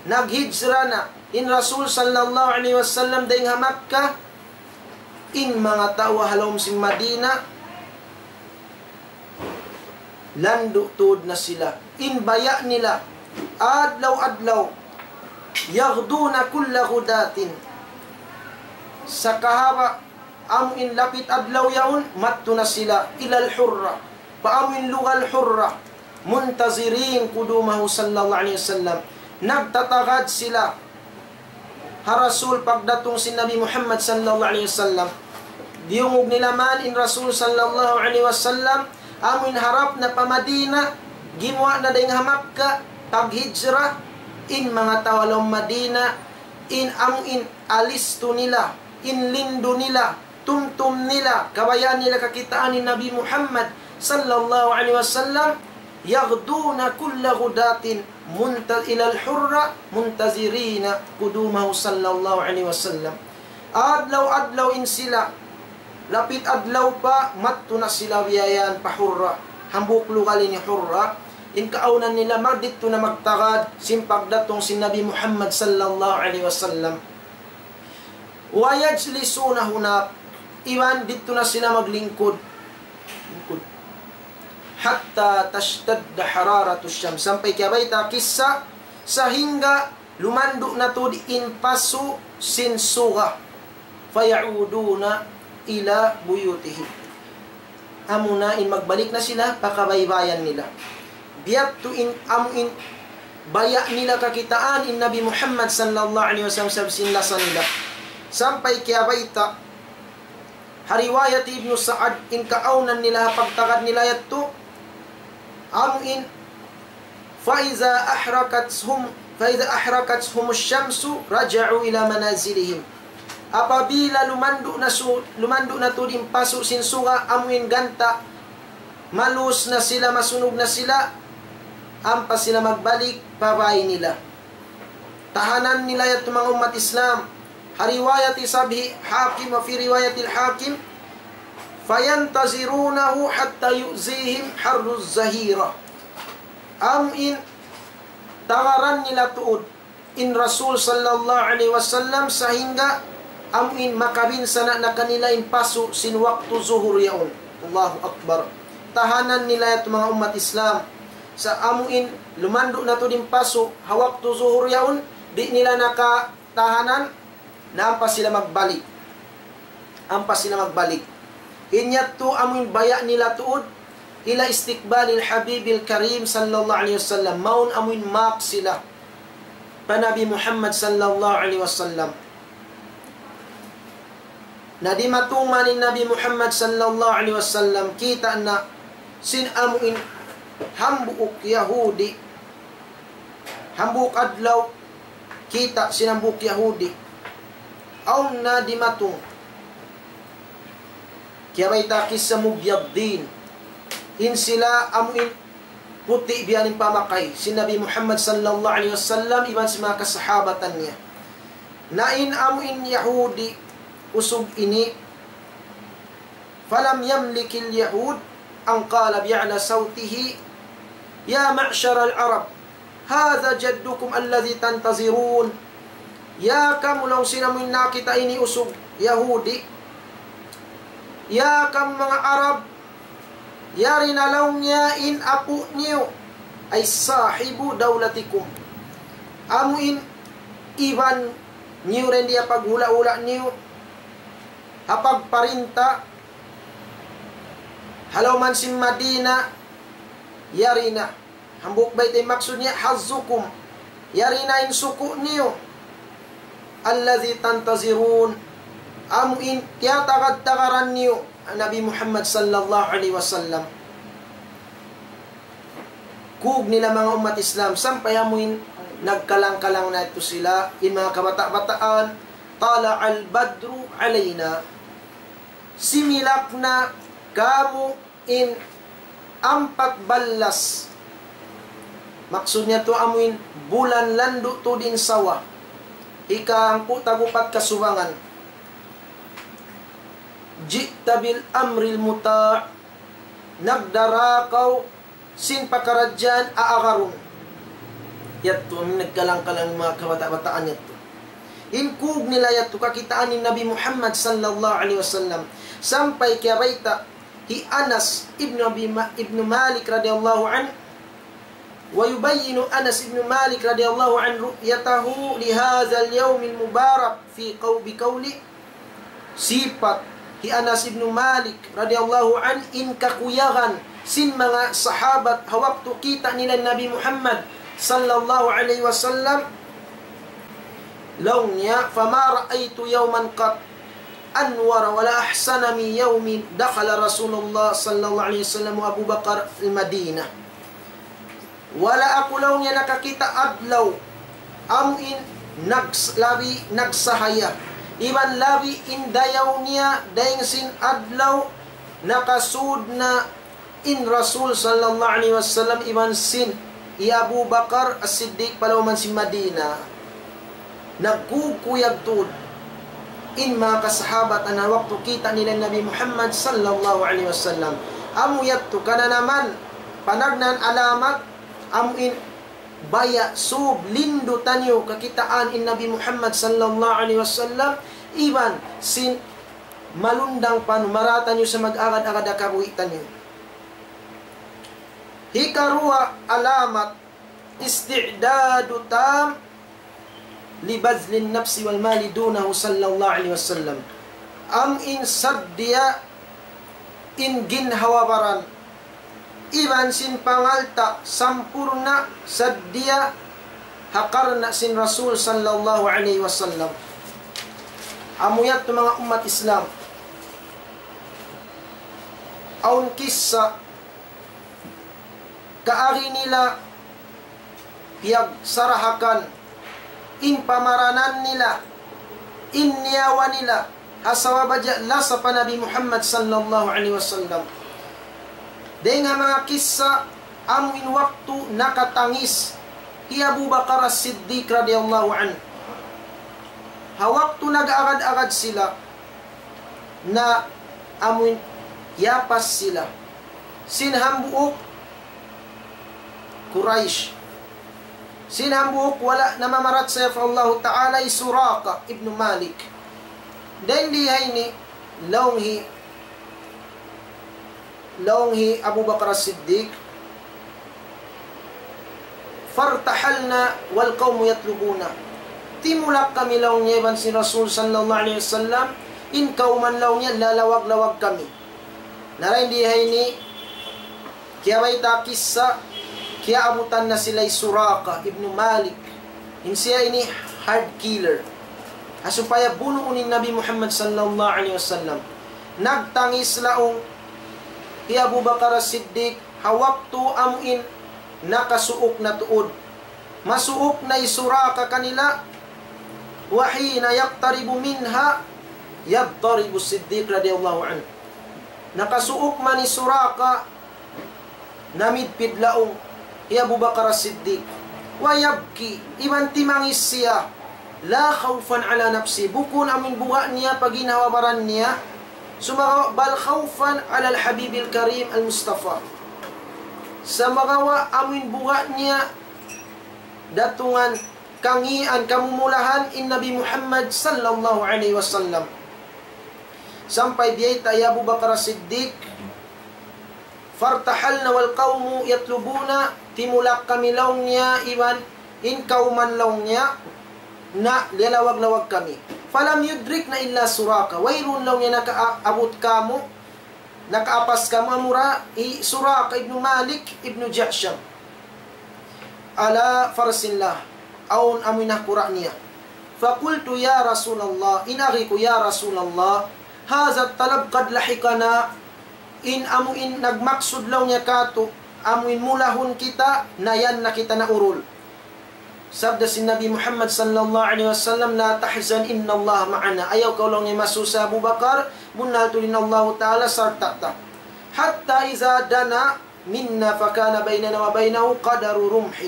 naghijra na in Rasul sallallahu alayhi wasallam dayn ha Makkah, in manga tau ha lawm sin Madina, landu' tuud na sila. In baya' nila, adlaw-adlaw, يغدون كل غداة. Sakahaba' amu in lapit adlaw yaun, madtu na sila, إلى الحرة. Pa amu in lugal Hurra, منتظرين قدومه صلى الله عليه وسلم. Nagtatagad sila ha Rasul pagdatung sin Nabi Muhammad sallallahu alayhi wasallam. Diyungug nila man in Rasul sallallahu alayhi wasallam, amu in harap na pa Madina, gimuwa' na dayn ha Makkah, paghijra, in manga tau ha lawm Madina, in amu in alistu nila, in lindu nila, tumtum nila, kabayaan nila kakitaan in Nabi Muhammad sallallahu alayhi wasallam, يغدون كل غداة منت-، إلى الحرة منتظرين قدومه صلى الله عليه وسلم. Adlaw-adlaw in sila, lapit adlaw pa, madtu na sila biya' yan pa Hurra. Hambuuk lugal ini Hurra. In kaawnan nila, madtu na magtagad sin pagdatung sin Nabi Muhammad sallallahu alayhi wasallam. ويجلسون هناك. Iban didtu na sila maglingkud. Lingkud. حتى تشتد حرارة الشمس. Sampay kiyabayta' kissa, sahingga lumandu' na tuud in pasu' sin suga. فيعودون إلى بيوتهم. Amuna in magbalik na sila pa kabaybayan nila. Biya' tu in amu in baya' nila kakitaan in Nabi Muhammad sallallahu alayhi wasallam sin lasa nila. Sampay kiyabayta', ha riwayat Ibnu Sa'ad, in kaawnan nila ha pagtagad nila yadtu, amu in فإذا أحرقتهم، فإذا أحرقتهم الشمس رجعوا إلى منازلهم. Apabila lumandu' na su-, lumandu' na tuud in pasu' sin suga, amu in ganta', malus na sila, masunug na sila, ampa sila magbalik pa bāy nila. Tahanan nila yadtu manga ummat Islam. Ha riwayat isab hi Hakim, وفي رواية الحاكم، فينتظرونه حتى يؤذيهم حر الظهيرة. Amu in tagaran nila tuud in Rasul sallallahu alayhi wasallam sahingga amu in makabinsa na kanila in pasu' sin waktu zuhur yaun. Allahu Akbar. Tahanan nila yadtu manga ummat Islam. Sa' amu in lumandu' na tuud in pasu' ha waktu zuhur yaun, di' nila na katahanan, na ampa sila magbalik. Ampa sila magbalik. In yadtu amu in baya' nila tuud إلى استقبال الحبيب الكريم صلى الله عليه وسلم. Mawn amu in maak sila pa Nabi Muhammad sallallahu alayhi wasallam. Na dimatung man in Nabi Muhammad sallallahu alayhi wasallam, kita' na sin amu in hambuuk Yahudi, hambuuk adlaw, kita' sin hambuuk Yahudi. Awn na dimatung. Kiyabayta' kissa مبيضين. In sila amu in puti' biya' ha pamakay sin Nabi Muhammad sallallahu alayhi wasallam iban sin manga kasahabatan niya. Na in amu in Yahudi usug ini, فلم يملك اليهود أن قال بأعلى صوته: يا معشر العرب، هذا جدكم الذي تنتظرون. Ya kamu, laung sin amu in nakakita' ini usug Yahudi. Ya kamu manga Arab, yari na laung niya in apu' niyu, أي صاحب دولتكم. Amu in iban niyu dayn di ha paghula'-hula' niyu, ha pagparinta, ha lawm sin Madina, yari na. Hambuuk bayta' in maksud niya, حظكم. Yari na in suku' niyu. الذي تنتظرون. Amu in tiyatagad-tagaran niyu, Nabi Muhammad sallallahu alayhi wasallam. Kug nila manga ummat Islam, sampay amu in nagkalang-kalang na yadtu sila, in manga kabata'-bataan, طلع البدر علينا. Similak na kāmu' in ampat ballas. Maksud niya tu amu in bulan landu' tuud in sawa. Hika hangpu' tag-upat kasubangan. جئت بالأمر المطاع. Nagdara kaw sin pakaradjaan aagarun. Yadtu amu in nagkalang-kalang manga kabata'-bataan yadtu. In kug nila yadtu kakitaan in Nabi Muhammad sallallahu alayhi wasallam. Sampay kiyabayta' hi Anas ibn Abi Ma-, ibn Malik radiyallahu anhu, ويبين أنس بن مالك رضي الله عنه رؤيته لهذا اليوم المبارك في قو-، بقوله. Sipat hi Anas ibn Malik radiyallahu anhu in kakuyagan sin manga sahabat ha waktu kita' nila Nabi Muhammad sallallahu alayhi wasallam. Laung niya, فما رأيت يوما قط أنور ولا أحسن من يوم دخل رسول الله صلى الله عليه وسلم وأبو بكر المدينة. Wala' aku laung niya nakakita' adlaw amu in nags-, labi nagsahaya iban labi in dayaw niya dayn sin adlaw nakasud na in Rasul sallallahu alayhi wasallam iban sin hi Abu Bakar As-Siddiq pa lawm sin Madina. Nagkukuyag tuud in manga kasahabatan ha waktu kita' nila Nabi Muhammad sallallahu alayhi wasallam. Amu yadtu kananaman, panagnaan alamat, amu in baya' sub lindu' taniyu kakitaan in Nabi Muhammad sallallahu alayhi wasallam, iban sin malundang pa mara taniyu sa mag-agad-agad ha kabuhi' taniyu. Hikaruwa alamat, استعداد تام لبذل النفس والمال دونه صلى الله عليه وسلم. Amu in saddiya in ginhawa-baran iban sin pangalta' sampurna' saddiya ha karna' sin Rasul sallallahu alayhi wasallam. Amu yadtu manga ummat Islam. Awn kissa kaagi nila piyagsarahakan in pamaranan nila, in nyawa nila, ha sabab hadja lasa pa Nabi Muhammad sallallahu alayhi wasallam. Dayn ha manga kissa, amu in waktu nakatangis hi Abu Bakar As-Siddiq radiyallahu anhu. Ha waktu nag-agad-agad sila, na amu in Yapas sila. Sin hambuuk Quraysh. Sin hambuuk wala' namamarachaya pa Allahu Ta'ala hi Suraqa ibn Malik. Dayn di ha ini, laung hi, laung hi Abu Bakar As-Siddiq, فارتحلنا والقوم يطلبون. Timulak kami laung niya iban sin Rasul sallallahu alayhi wasallam, in kawman laung niya lalawag-lawag kami. Na dayn di ha ini, kiyabayta' kissa, kiyaabutan na sila hi Suraqa ibn Malik. In siya ini heart killer. Ha supaya bunuun in Nabi Muhammad sallallahu alayhi wasallam. Nagtangis laung hi Abu Bakar As-Siddiq, ha waktu amuin nakasuuk na tuud. Masuuk na hi Suraqa kanila, وحين يقترب منها يضطرب الصديق رضي الله عنه. Nakasuuk man hi Suraqa, namidpid laung hi Abu Bakar As-Siddiq. ويبكي, iban timangis siya. لا خوفا على نفسه, bukun amuin buga' niya pa ginhawa-baran niya. Sumagawa', بل خوفا على الحبيب الكريم المصطفى. Sumagawa' amuin buga' niya datungan kangīan, kamumulahan in Nabi Muhammad sallallahu alayhi wasallam. Sampay biyayta' hi Abu Bakar As-Siddiq, فارتحلنا والقوم يطلبون, timulak kami laung niya iban in kawman laung niya, na liyalawag-lawag kami. فلم يدركنا إلا سراقة, wayruun laung niya nakaabut kāmu', nakaapas kāmu' amura hi Suraqa ibn Malik ibn Ja'sham. على فرس له, awn amuin ha kura' niya. فقلت يا رسول الله, in agi ku, يا رسول الله, هذا الطلب قد لحقنا, in amuin nagmaksud laung niya kātu', amuin mulahun kita, na yan na kita naurul. Sabda sin Nabi Muhammad sallallahu alayhi wasallam, لا تحزن إن الله معنا. Ayaw kaw laung niya masusa Abu Bakar, bunnal tuud in Allahu Ta'ala sarta' ta. حتى إذا دنا منا فكان بيننا وبينه قدر رمح.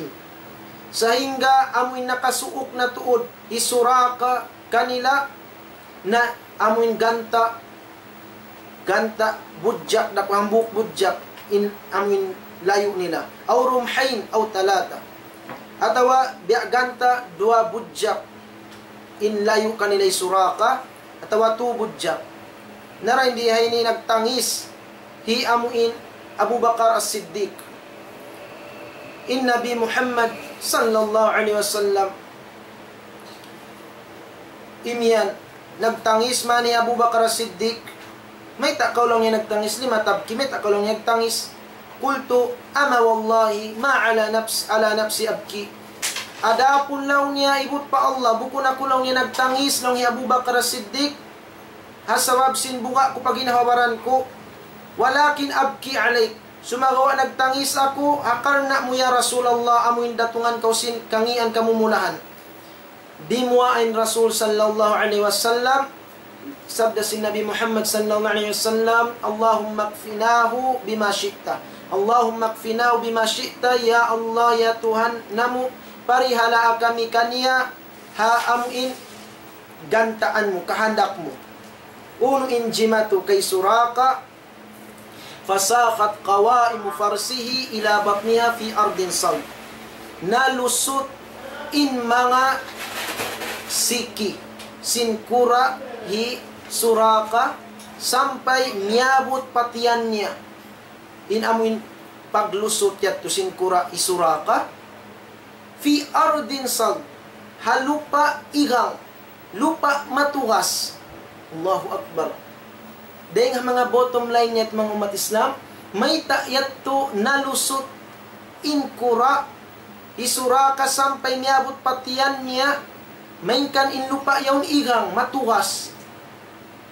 Sahingga amuin nakasuuk na tuud hi Suraqa kanila, na amuin ganta', ganta' budjak, daku hambuuk budjak in amuin layu' nila. أو رمحين أو ثلاثة. Atawa biya' ganta' duwa budjak in layu' kanila hi Suraqa, atawa tū budjak. Na dayn di ha ini nagtangis hi amuin Abu Bakar As-Siddiq. In Nabi Muhammad sallallahu alayhi wasallam imiyan, nagtangis man hi Abu Bakar As-Siddiq. Mayta' kaw laung niya nagtangis, لم تبكي, mayta' kaw laung niya nagtangis? قلت أما والله ما على نفس، على نفسي أبكي. Adapun laung niya, ibut pa Allah, bukun aku laung niya nagtangis, laung hi Abu Bakar As-Siddiq, ha sabab sin buga' ku pa ginhawa-baran ku. ولكن أبكي عليك. Sumagawa' nagtangis aku ha karna' mu ya Rasulullah, amuin datungan kaw sin kangīan, kamumulahan. Dimuwaa in Rasul sallallahu alayhi wasallam, sabda sin Nabi Muhammad sallallahu alayhi wasallam, اللهم اكفناه بما شئت. اللهم اكفناه بما شئت. Ya Allah, ya Tuhan namu', parihalaa kami kaniya ha amuin gantaan mu, kahandak mu. Unu in jimatu kay Suraqa, فساقت قوائم فرسه إلى بطنها في أرض صلب. Nalusut in manga siki sin kura' hi Suraqa sampay miyabut pa tiyan niya. In amuin paglusut yadtu sin kura' hi Suraqa, في أرض صلب, ha lupa' igang, lupa' matugas. Allahu Akbar. Dayng ha manga bottom line niya, manga ummat Islam, mayta' yadtu nalusut in kura' hi Suraqa sampay miyabut pa tiyan niya, malayngkan in lupa' yaun igang, matugas.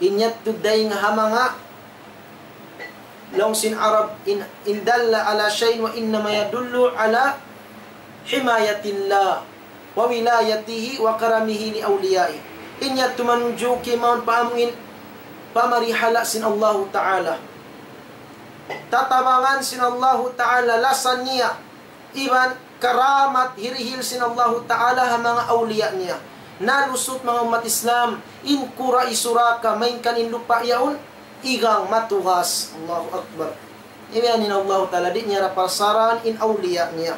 In yadtu dayng ha manga, laung sin Arab, إن، إن دل على شيء وإنما يدل على حماية الله وولايته وكرمه لأوليائه. In yadtu manunjuki mawn pa amuin pamarihala sin Allahu Ta'ala. Tatabangan sin Allahu Ta'ala, lasa niya, iban karamat hirihil sin Allahu Ta'ala ha manga awliya niya. Nalusut, manga ummat Islam, in kura' hi Suraqa, malayngkan in lupa' yaun igang matugas. Allahu Akbar. Imiyan in Allahu Ta'ala, di' niya ra parsaran in awliya niya.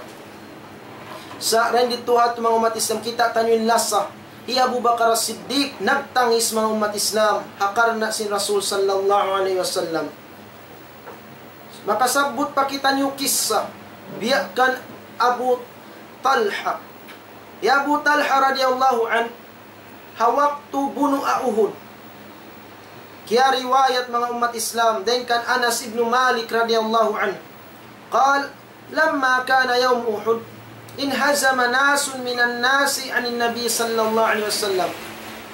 Sa' dayn didtu ha manga ummat Islam, kita' taniyu in lasa. Hi Abu Bakar As-Siddiq, nagtangis manga ummat Islam, ha karna' sin Rasul sallallahu alayhi wasallam. Makasabbut pa kitaniyu kissa, biya' kan Abu Talha. Hi Abu Talha radiyallahu anhu, ha waktu bunu' ha Uhud. Kiyariwayat manga ummat Islam, dayn kan Anas ibn Malik radiyallahu anhu. قال: لما كان يوم أحد انهزم ناس من الناس عن النبي صلى الله عليه وسلم.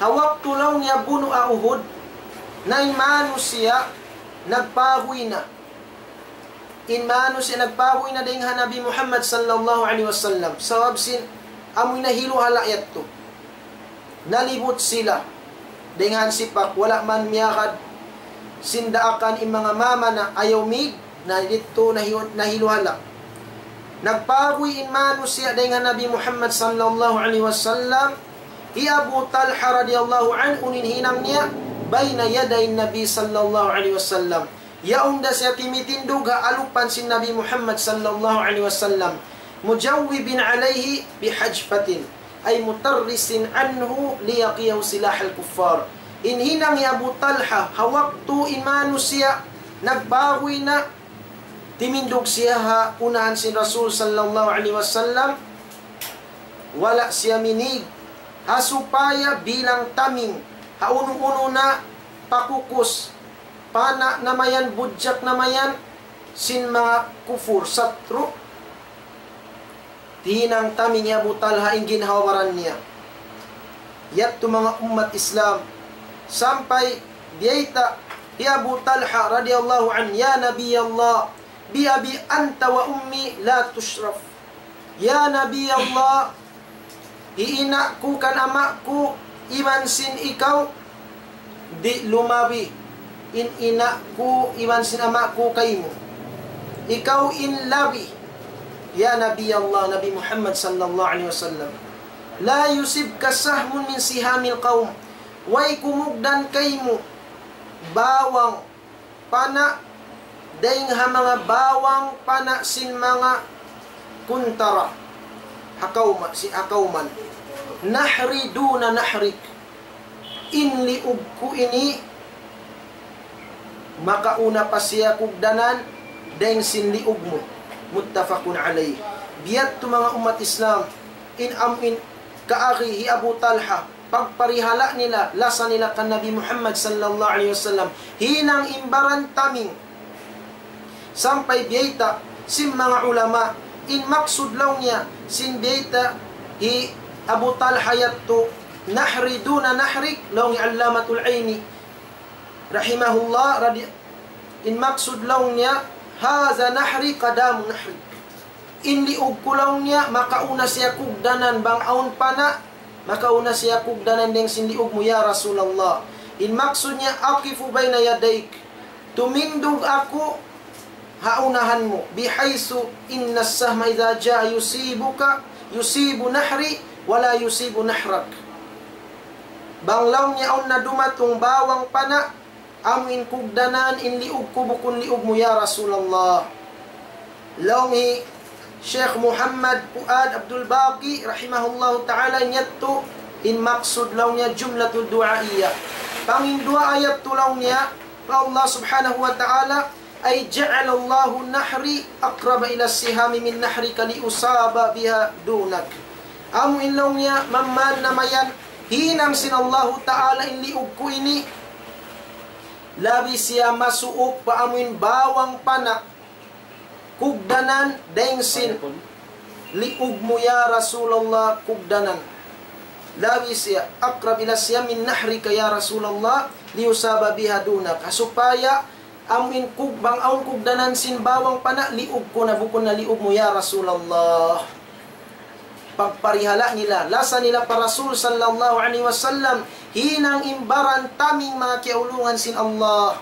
Ha waktu laung niya bunu' ha Uhud, na in manusiya' nagpahuy na. In manusiya' nagpahuy na dayn ha Nabi Muhammad sallallahu alayhi wasallam. Sabab sin amuin nahiluhala' yadtu. Nalibut sila dayn ha sipak, wala' man miyagad sin daakan in manga mama na ayaw mig, na didtu nahi-, nahiluhala'. Nagpahuy in manusiya' dayn ha Nabi Muhammad sallallahu alayhi wasallam. Hi Abu Talha radiyallahu anhu, in hinang niya, بين يدي النبي صلى الله عليه وسلم. Yaun da siya timitindug ha alupan sin Nabi Muhammad sallallahu alayhi wasallam. مجوبا عليه بحجفة، أي مترسا عنه ليقيه سلاح الكفار. In hinang hi Abu Talha, ha waktu in manusiya' nagpahuy na, timindug siya ha unahan sin Rasul sallallahu alayhi wasallam, wala' siya minig, ha supaya bilang taming, ha unu-unu na pakukus, pana' na mayan, budjak na mayan, sin manga kufur, satru', hinang taming hi Abu Talha in ginhawa-baran niya. Yadtu manga ummat Islam, sampay biyayta' hi Abu Talha radiyallahu anhu, يا نبي الله، بأبي أنت وأمي لا تشرف. Ya Nabi Allah, hi ina' ku kan ama' ku iban sin ikaw, di' lumabi in ina' ku iban sin ama' ku kaymu. Ikaw in labi. Ya Nabi Allah, Nabi Muhammad sallallahu alayhi wasallam. لا يصبك سهم من سهام القوم. Way kumugdan kaymu bawang pana' dayn ha manga bawang pana' sin manga kuntara ha kawma-, si-, ha kawman. نحري دون نحرك. In liug ku ini makauna pa siya kugdanan dayn sin liug mu. متفق عليه. Biya' ha yadtu manga ummat Islam, in amu in kaagi hi Abu Talha, pagparihala' nila, lasa nila kan Nabi Muhammad sallallahu alayhi wasallam, hinang in baran taming. Sampay biyayta' sin manga ulama, in maksud laung niya sin biyayta' hi Abu Talha yadtu, نحري دون نحرك, laung hi Allamatul Aini rahimahullah, radi-, in maksud laung niya, هذا نحري قدام نحرك. In liug ku laung niya, makauna siya kugdanan bang awn pana', makauna siya kugdanan dayn sin liug mu, ya Rasulullah. In maksud niya, أقف بين يديك. Tumindug aku ha unahan mu. بحيث إن السهم إذا جاء يصيبك، يصيب نحري ولا يصيب نحرك. Bang laung niya awn na dumatung bawang pana', amu in kugdanan in liug ku, bukun liug mu, ya Rasulullah. Laung hi Sheikh Muhammad Fuad Abdul Baqi rahimahullahu ta'ala, in yadtu in maksud laung niya jumlatul du'aiyya. Pangin duwaa yadtu laung niya pa Allah subhanahu wa ta'ala, أي جعل الله نحري أقرب إلى السهام من نحرك لأصاب بها دونك. Amu in laung niya, mamman na mayan, hinang sin Allahu Ta'ala in liug ku ini, labi siya masuuk pa amu in bawang pana' kugdanan dayn sin liug mu, ya Rasulullah, kugdanan. Labi siya, أقرب إلى السهام من نحرك يا رسول الله لأصاب بها دونك. Ha supaya amu in kug-, bang awn kugdanan sin bawang pana', liug ku na, bukun na liug mu, ya Rasulullah. Pagparihala' nila, lasa nila pa Rasul sallallahu alayhi wasallam, hinang in baran taming manga kiyaulungan sin Allah.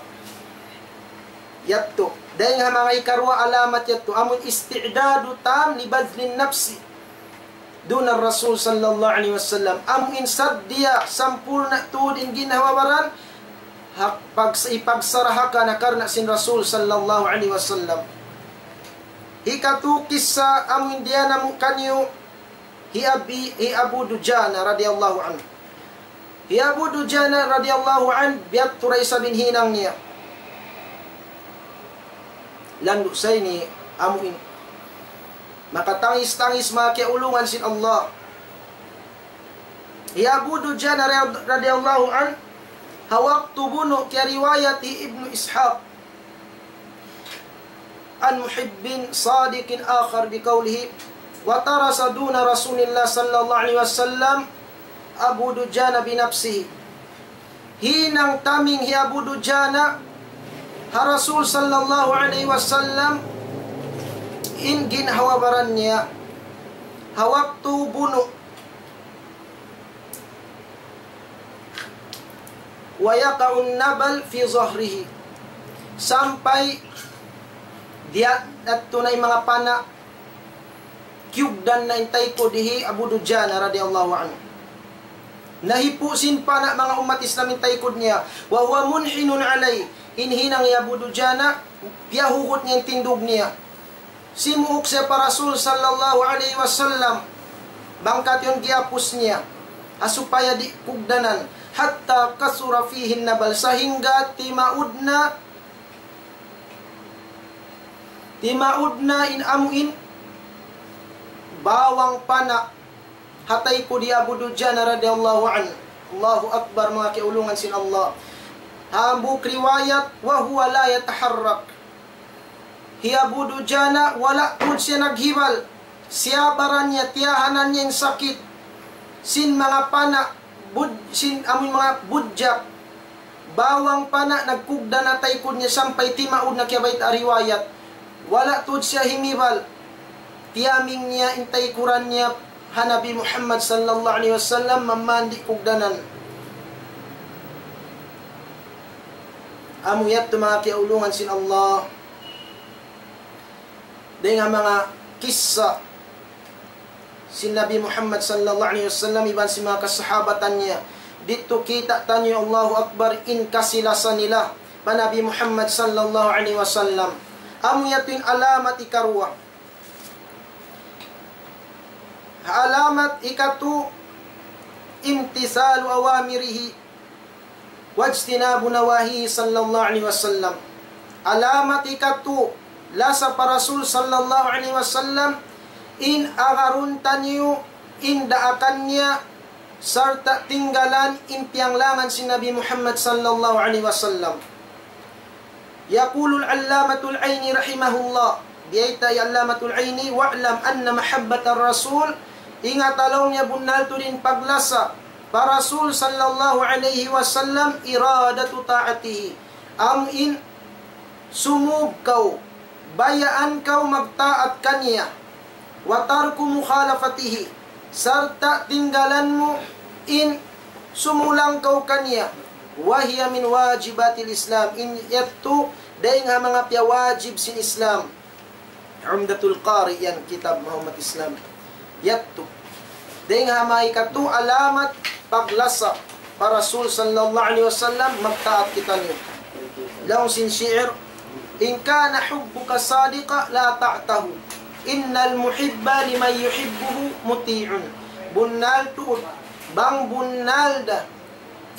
Yadtu. Dayn ha manga ikaruwa alamat yadtu, amun استعداد تام لبذل النفس دون الرسول صلى الله عليه وسلم. Amu in saddiya sampurna' tuud in ginhawa-baran, hak-, pag-, ipagsaraha ka na karna' sin Rasul sallallahu alayhi wasallam. Hikatu kissa amu in diyanamu kaniyu hi Abi, hi Abu Dujana radiyallahu anhu. Hi Abu Dujana radiyallahu anhu, biyadtu da isab in hinang niya. Landu' sa ini amu in makatangis-tangis, manga kiyaulungan sin Allah. Hi Abu Dujana rad-, radiyallahu anhu, ha waktu bunu', kiyariwayat hi Ibnu Ishaq عن محب صادق آخر بقوله: وترس دون رسول الله صلى الله عليه وسلم أبو دجانة بنفسه. Hinang taming hi Abu Dujana ha Rasul sallallahu alayhi wasallam in ginhawa-baran niya ha waktu bunu'. ويقع النبل في ظهره. Sampay diya-, yadtu na in manga pana', kiyugdan na in taykud hi Abu Dujana radiyallahu anhu. Nahipu' sin pana', manga ummat Islam, in taykud niya. وهو منحن عليه. In hinang hi Abu Dujana, piyahugut niya in tindug niya. Simuuk siya pa Rasul sallallahu alayhi wasallam. Bang katan giyapus niya, ha supaya di' kugdanan. حتى كثر فيه النبل, sahingga timaud na, timaud na in amu in bawang pana' ha taykud hi Abu Dujana radiyallahu anhu. Allahu Akbar, manga kiyaulungan sin Allah. Hambuuk riwayat, وهو لا يتحرك. Hi Abu Dujana, wala' tuud siya naghibal. Siyabaran niya, tiyahanan niya in sakit sin manga pana', bud-, sin amun manga budjak. Bawang pana' nagkugdan ha taykud niya sampay timaud na, kiyabayta' ha riwayat. Wala' tuud siya himibal. Tiyaming niya in taykuran niya ha Nabi Muhammad sallallahu alayhi wasallam, mamandi kugdanan. Amu yadtu, manga kiyaulungan sin Allah. Dayn ha manga kissa sin Nabi Muhammad sallallahu alayhi wasallam iban sin manga kasahabatan niya. Didtu kita' taniyu, Allahu Akbar, in kasilasa nila pa Nabi Muhammad sallallahu alayhi wasallam. Amu yadtu in alamat ikaruwa. Alamat ikatu, امتثال أوامره واجتناب نواهيه صلى الله عليه وسلم. Alamat ikatu, lasa pa Rasul sallallahu alayhi wasallam, in agarun taniyu in daakan niya, sarta' tinggalan in piyanglangan sin Nabi Muhammad sallallahu alayhi wasallam. يقول العلامة العيني رحمه الله, biyayta' hi Allamatul Aini, واعلم أن محبة الرسول, ingat laung niya, bunnal tuud in paglasa pa Rasul sallallahu alayhi wasallam, إرادة طاعته. Amu in sumūb kaw, bayaan kaw magtaat kaniya. وترك مخالفته, sarta' tinggalan mu in sumulang kaw kaniya. وهي من واجبات الإسلام, in yadtu dayn ha manga piyawajib sin Islam. Umdatul Qari yan, kitab manga ummat Islam. Yadtu. Dayn ha manga ikatu alamat paglasa pa Rasul sallallahu alayhi wasallam, magtaat kitaniyu. Laung sin shi'ir, إن كان حبك صادقا لأطعته، إن المحب لمن يحبه مطيع. Bunnal tuud, bang bunnal da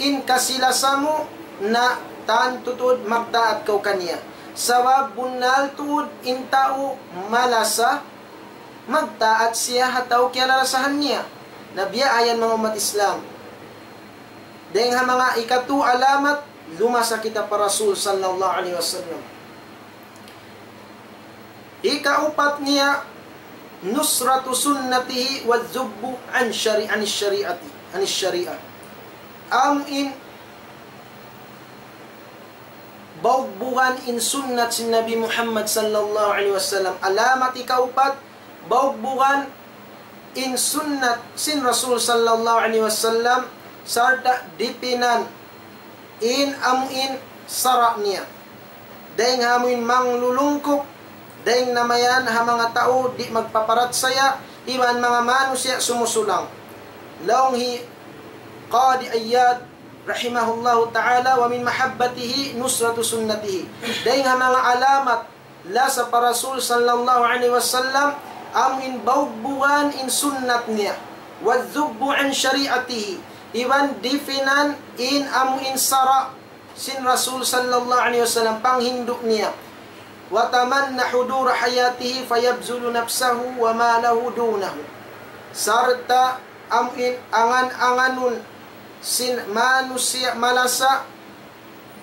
in kasilasa mu, na tantu tuud magtaat kaw kaniya. Sabab bunnal tuud in tau malasa, magtaat siya ha tau kiyalalasahan niya. Na biya' yan, manga ummat Islam. Dayn ha manga ikatu alamat, lumasa kita pa Rasul sallallahu alayhi wasallam. Ikaupat niya, نصرة سنته والذب عن شري-، عن الشريعة، عن الشريعة. Amu in baugbugan in sunnat sin Nabi Muhammad sallallahu alayhi wasallam. Alamat ikaupat, baugbugan in sunnat sin Rasul sallallahu alayhi wasallam, sarta' dipinan in amu in sara' niya. Dayn ha amu in manglulungkup, dayn na mayan ha manga tau di' magpaparachaya, iban manga manusiya' sumusulang. Laung hi Qadi Iyad, رحمه الله تعالى، ومن محبته نصرة سنته. Dayn ha manga alamat lasa pa Rasul sallallahu alayhi wasallam, amu in baugbugan in sunnat niya. والذب عن شريعته. Iban dipinan in amu in sara' sin Rasul sallallahu alayhi wasallam, panghindu' niya. وتمنى حضور حياته فيبذل نفسه وماله دونه. Sarta' amu in angan-anganun sin manusiya' malasa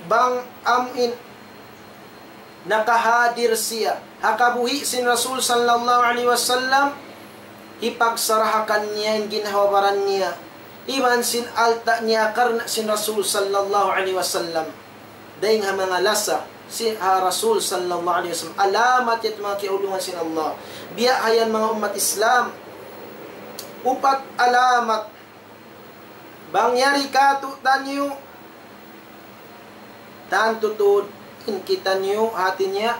bang amu in nakahadir siya ha kabuhi' sin Rasul sallallahu alayhi wasallam, hipagsarahakan niya in ginhawa-baran niya iban sin alta' niya karna' sin Rasul sallallahu alayhi wasallam. Dayn ha manga lasa sin ha Rasul sallallahu alayhi wasallam. Alamat yadtu manga kiyaulungan sin Allah. Biya' ha yan manga ummat Islam. Upat alamat. Bang yari kātu'niyu, tantu tuud in kitaniyu, hāti niya,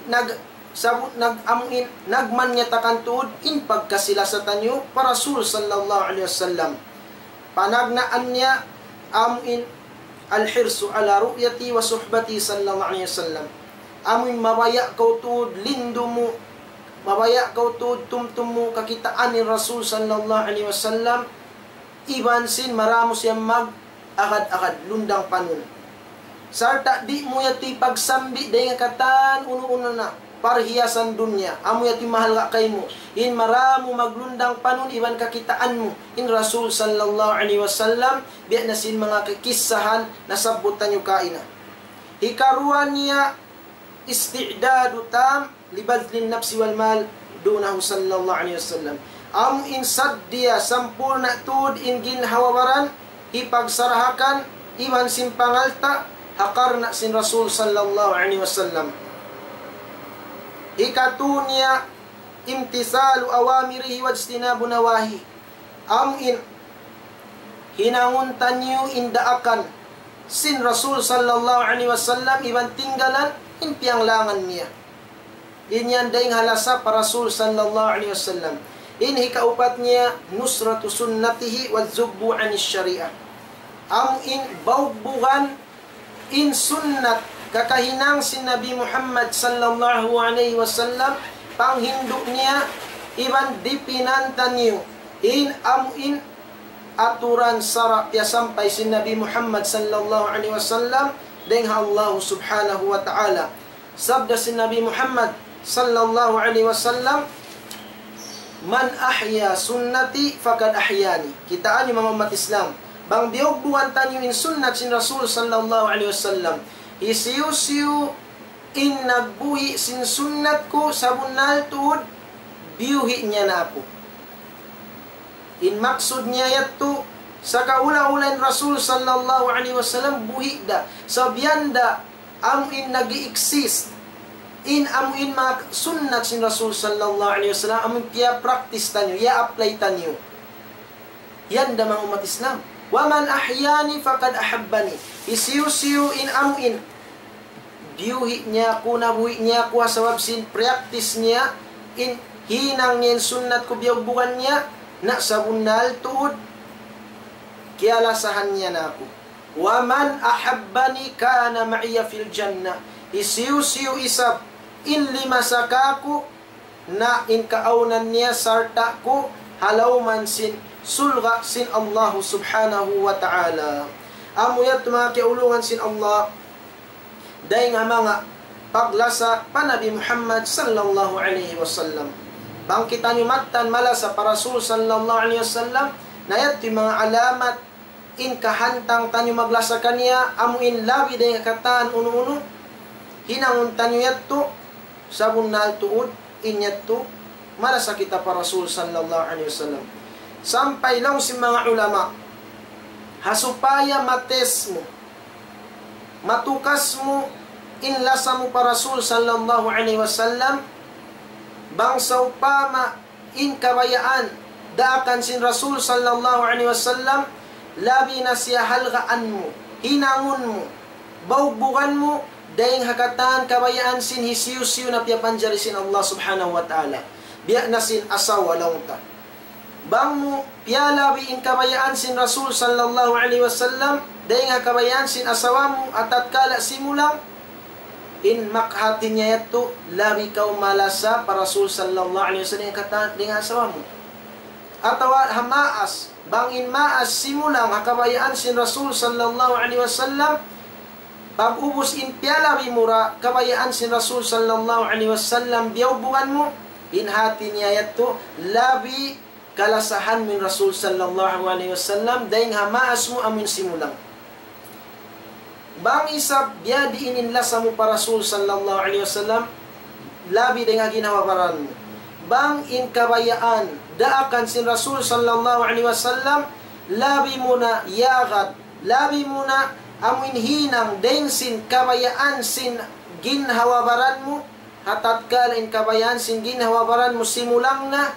nag-, sabu-, nag-, amu in, nagmanyatakan tuud in pagkasi-lasa taniyu pa Rasul sallallahu alayhi wasallam. Panagnaan niya amu in الحرص على رؤيته وصحبته صلى الله عليه وسلم. Amu in mabaya' kaw tuud lindu mu, mabaya' kaw tuud tumtum mu kakitaan in Rasul sallallahu alayhi wasallam, iban sin maramu siya mag-agad-agad, lundang panun. Sarta' di' mu yadtu hipagsambi' dayn ha katan unu-unu na parhiyasan dunya, amu yadtu in mahalga' kaymu. In maramu maglundang panun iban kakitaan mu in Rasul sallallahu alayhi wasallam, biya' na sin manga kakissahan nasabbut taniyu kaina. Hikaruwa niya, استعداد تام لبذل النفس والمال دونه صلى الله عليه وسلم. Amu in saddiya sampurna' tuud in ginhawa-baran, hipagsarahakan, iban sin pangalta', ha karna' sin Rasul sallallahu alayhi wasallam. Hikatu niya, امتثال أوامره واجتناب نواهيه. Amu in hinangun taniyu in daakan sin Rasul sallallahu alayhi wasallam iban tinggalan in piyanglangan niya. In yan dayn ha lasa pa Rasul sallallahu alayhi wasallam. In hikaupat niya, نصرة سنته والذب عن الشريعة. Amu in baugbugan in sunnat kakahinang sin Nabi Muhammad sallallahu alayhi wasallam, panghindu' niya, iban dipinan taniyu in amu in aturan sara' piyasampay sin Nabi Muhammad sallallahu alayhi wasallam dayn ha Allah subhanahu wa ta'ala. Sabda sin Nabi Muhammad sallallahu alayhi wasallam, من أحيا سنتي فقد أحياني. Kitaa niyu manga ummat Islam. Bang biyugbugan taniyu in sunnat sin Rasul sallallahu alayhi wasallam, hisiyu-siyu in nagbuhi' sin sunnat ku, sabunnal tuud biyuhi' niya na aku. In maksud niya yadtu, sakaula-ula in Rasul sallallahu alayhi wasallam buhi' da. Sabab yan da amu in nag-i-exist in amu in manga sunnat sin Rasul sallallahu alayhi wasallam, amu in piya-practice taniyu, iya-apply taniyu. Yan da manga ummat Islam. ومن أحياني فقد أحبني. Hisiyu-siyu in amu in biyuhi' niya aku, nabuhi' niya aku, ha sabab sin practice niya, in hinang niya in sunnat ku, biyugbugan niya, na sabunnal tuud kiyalasahan niya na aku. ومن أحبني كان معي في الجنة. Hisiyu-siyu isab in limasa kāku', na in kaawnan niya sarta' ku ha lawm sin surga' sin Allah subhanahu wa ta'ala. Amu yadtu manga kiyaulungan sin Allah, dayn ha manga paglasa pa Nabi Muhammad sallallahu alayhi wasallam. Bang kitaniyu mattan malasa pa Rasul sallallahu alayhi wasallam, na yadtu in manga alamat in kahantang taniyu maglasa kaniya, amu in labi dayn ha katan unu-unu, hinangun taniyu yadtu, sabunnal tuud in yadtu, malasa kita pa Rasul sallallahu alayhi wasallam. Sampay laung sin manga ulama, ha supaya ma-test mu, matukas mu in lasa mu pa Rasul sallallahu alayhi wasallam, bang sawpama in kabayaan daakan sin Rasul sallallahu alayhi wasallam, labi na siya halgaan mu, hinangun mu, bawgbugan mu, dayn ha katan kabayaan sin hisiyu-siyu na piyapanjari sin Allah subhanahu wa ta'ala. Biya' na sin asawa laung ta. Bang mu piyalabi in kabayaan sin Rasul sallallahu alayhi wasallam, dayn ha kabayaan sin asawa mu, ha tatkala simulang, in mak-, hati niya yadtu, labi kaw malasa pa Rasul sallallahu alayhi wasallam, katan dayn ha asawa mu. Atawa ha maas, bang in maas simulang ha kabayaan sin Rasul sallallahu alayhi wasallam, pag-ubus in piyalabi mu ra kabayaan sin Rasul sallallahu alayhi wasallam, biyaubugan mu, in hati niya yadtu, labi kalasahan mu in Rasul sallallahu alayhi wasallam, dayn ha maas mu amun simulang. Bang isab biyadiin in lasa mu pa Rasul sallallahu alayhi wasallam, labi dayn ha ginhawa-baran mu. Bang in kabayaan, daakan sin Rasul sallallahu alayhi wasallam, labi mu na yagad, labi mu na amun hinang dayn sin kabayaan sin ginhawa-baran mu, ha tatkala in kabayaan sin ginhawa-baran mu simulang na,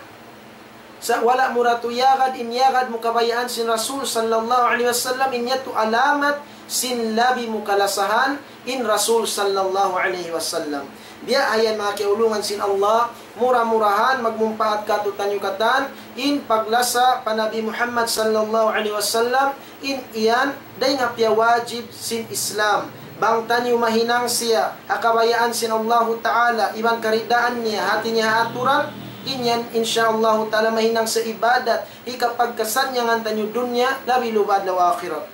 sa' wala' mu ra tu yagad, in yagad mu kabayaan sin Rasul sallallahu alayhi wasallam, in yadtu alamat sin labi mu kalasahan in Rasul sallallahu alayhi wasallam. Biya' ha yan manga kiyaulungan sin Allah, mura-murahan magmumpaat kātu'niyu katan, in paglasa pa Nabi Muhammad sallallahu alayhi wasallam, in yan, dayn ha piyawajib sin Islam. Bang taniyu mahinang siya ha kabayaan sin Allahu Ta'ala, iban karidaan niya, hati niya ha aturan, in yan, insya Allahu Ta'ala, mahinang siya ibadat, hikapagkasannyangan taniyu dunya, labi luba adlaw akhirat.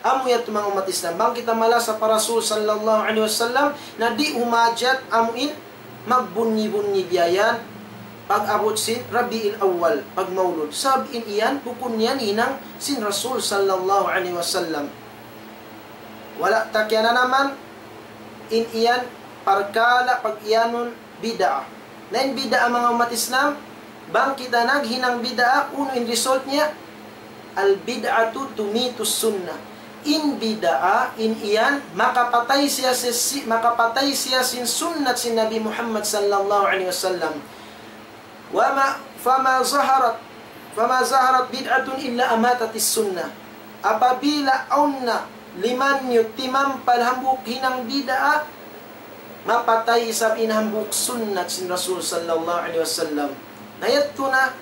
Amu yadtu manga ummat Islam. Bang kita malasa pa Rasul sallallahu alayhi wasallam, na di' humajat amu in magbunyi-bunyi biya' yan, pag-abut sin Rabiul Awwal, pagmaulud. Sabab in yan, bukun yan hinang sin Rasul sallallahu alayhi wasallam. Wala' ta kiyananaman, in yan, parkala' pag-iyanun bid'ah. Na in bid'ah manga ummat Islam, bang kita naghinang bid'ah, unu in result niya, البدعة تميت السنة. In bid'ah, in yan, makapatay siya si, si, makapatay siya sin sunnat sin Nabi Muhammad sallallahu alayhi wasallam. وما، فما ظهرت، فما ظهرت بدعة إلا أماتت السنة. Apabila awn na limanyut timampal hambuuk hinang bid'ah, mapatay isab in hambuuk sunnat sin Rasul sallallahu alayhi wasallam. Na yadtu na,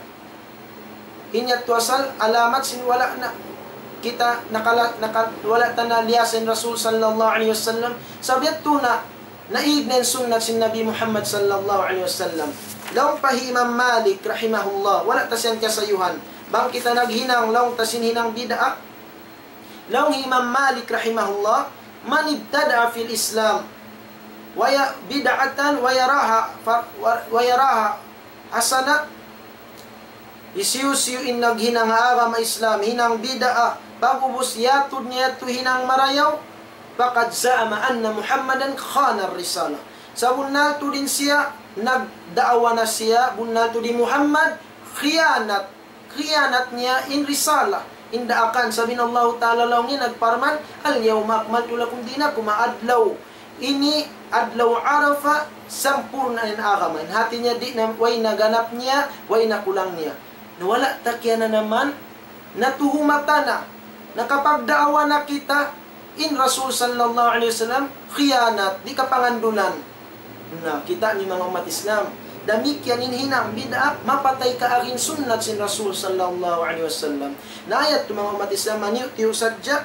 in yadtu asal alamat sin wala' na kita nakala-, naka-, wala' ta na liyasa in Rasul sallallahu alayhi wasallam. Sabab yadtu na, naig na in sunnat sin Nabi Muhammad sallallahu alayhi wasallam. Laung pa hi Imam Malik rahimahullah, wala' ta siya kiyasayuhan. Bang kita naghinang, laung ta sin hinang bid'ah. Laung hi Imam Malik rahimahullah, من ابتدع في الإسلام وي-، بدعة ويراها ف-، و-، ويراها حسنة. Hisiyu-siyu in naghinang ha agama Islam, hinang bid'ah, pag'ubus yatud niya yadtu hinang marayaw, فقد زعم أن محمدا خان الرسالة. Sabunnal tuud in siya, nagdaawa na siya, bunnal tuud hi Muhammad, khiyanat, khiyanat niya in risalah, in daakan. Sabab in Allahu Ta'ala laung niya nagparman, اليوم أكملت لكم دينكم, adlaw ini, adlaw Arafah, sampurna' in agama. In hati niya di' na, way na ganap niya, way na kulang niya. Na wala' ta kiyananaman, natuhumatan na, nakapagdaawa na kita, in Rasul sallallahu alayhi wasallam, khiyanat, di' kapangandulan. Na, kita' niyu manga ummat Islam. Damikkiyan in hinang bid'ah, mapatay kaagi in sunnat sin Rasul sallallahu alayhi wasallam. Na yadtu manga ummat Islam, maniyu-tiyu sadja.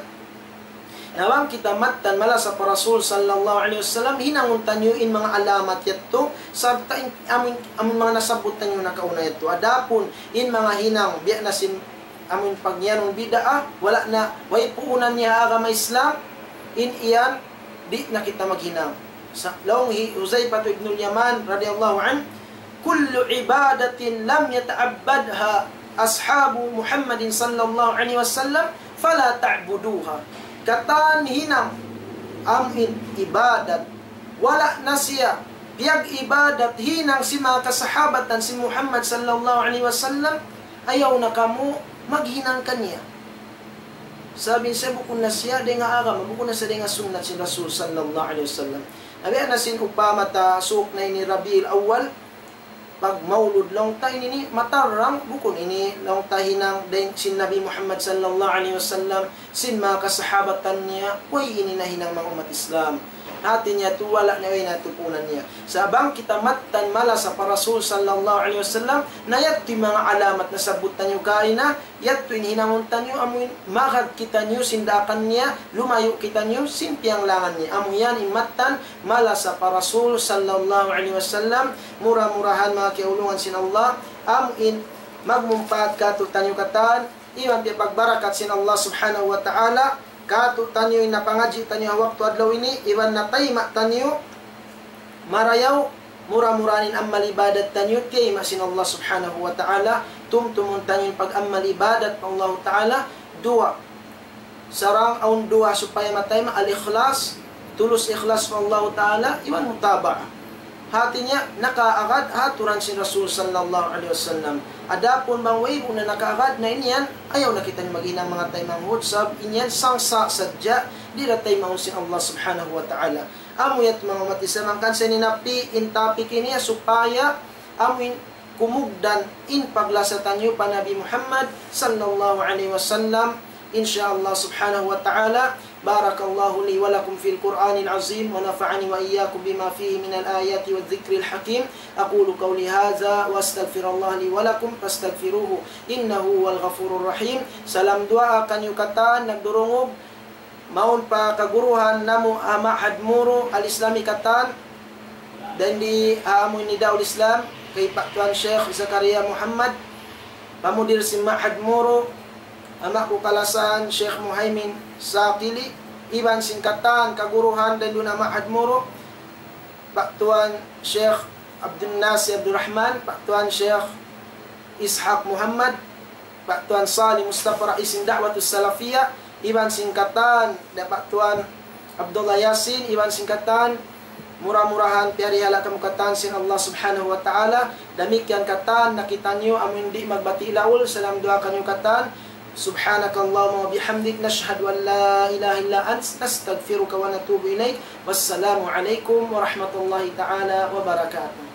Na bang kita mattan malasa pa Rasul sallallahu alayhi wasallam, hinangun taniyu in manga alamat yadtu, sarta' in amun, amun manga nasabbut taniyu nakauna yadtu. Adapun in manga hinang, biya' na sin amun pagyanun bid'ah, wala' na, way puunan niya ha agama Islam, in yan, di' na kita maghinang. Sa-, laung hi Huzaifah ibnul Yaman radiyallahu anhu, كل عبادة لم يتعبدها أصحاب محمد صلى الله عليه وسلم فلا تعبدوها. Katan hinang amun ibadat, wala' na siya piyag-ibadat hinang sin manga kasahabatan sin Muhammad sallallahu alayhi wasallam, ayaw na kamu maghinang kaniya. Sabab in siya bukun na siya dayn ha agama, bukun na siya dayn ha sunnat sin Rasul sallallahu alayhi wasallam. Na biya' na sin upama ta suuk na ini Rabiul Awwal, pagmaulud laung ta ini matarrang, bukun ini laung ta hinang dayn sin Nabi Muhammad sallallahu alayhi wasallam, sin manga kasahabatan niya, way ini nahinang manga ummat Islam. Hati niya tuud wala' na way na tupunan niya. Sa' bang kita mattan malasa pa Rasul sallallahu alayhi wasallam, na yadtu in manga alamat nasabbut taniyu kaina, yadtu in hinangun taniyu, amu in magad kitaniyu sin daakan niya, lumayu' kitaniyu sin piyanglangan niya. Amu yan in mattan malasa pa Rasul sallallahu alayhi wasallam, mura-murahan manga kiyaulungan sin Allah, amu in magmumpaat kātu'niyu katan, iban piyapagbarakat sin Allah subhanahu wa ta'ala, kātu'niyu in napangadji' taniyu ha waktu adlaw ini, iban natayma' taniyu, marayaw, mura-murahan in amal ibadat taniyu, tiyayma' sin Allah subhanahu wa ta'ala, tumtumun taniyu in pag-amal ibadat pa Allah ta'ala, duwa. Sarang awn duwa supaya matayma', al-ikhlas, tulus ikhlas pa Allah ta'ala, iban mutaba'ah. Hati niya, nakaagad ha aturan sin Rasul sallallahu alayhi wasallam. Adapun bang wayruun na nakaagad na in yan, ayaw na kita maghinang manga taymanghud, sabab in yan sangsa' sadja, di' da taymaun sin Allah subhanahu wa ta'ala. Amu yadtu manga ummat Islam, hangkan sa ini napi in topic ini supaya amu in kumugdan in paglasa taniyu pa Nabi Muhammad sallallahu alayhi wasallam. In sha Allah subhanahu wa ta'ala, بارك الله لي ولكم في القرآن العظيم ونفعني وإياكم بما فيه من الآيات والذكر الحكيم. أقول قولي هذا وأستغفر الله لي ولكم فاستغفروه إنه هو الغفور الرحيم. Salam duwaa kaniyu katan nagdurungug, mawn pa kaguruhan namu' ha Ma'had Muru Al-Islami katan, dayn di ha amu in Nidaul Islam, kay Pa' Tuan Sheikh Zakaria Muhammad, pamudir sin Ma'had Muru, ama' ku kalasahan Sheikh Muhaymin Saqili, iban sin katan kaguruhan dayn duun ha Ma'had Muru, Pa' Tuan Sheikh Abdul Nasir Abdul Rahman, Pa' Tuan Sheikh Ishaq Muhammad, Pa' Tuan Salih Mustafa Rais sin Da'watus Salafiyah, iban sin katan, da Pa' Tuan Abdullah Yasin, iban sin katan, mura-murahan piyarihala' kamu katan sin Allah subhanahu wa ta'ala, damikkiyan katan, na kitaniyu amu in di' magbati' laul, salam duwaa kaniyu katan, سبحانك اللهم وبحمدك نشهد أن لا إله إلا أنت نستغفرك ونتوب إليك. والسلام عليكم ورحمة الله تعالى وبركاته.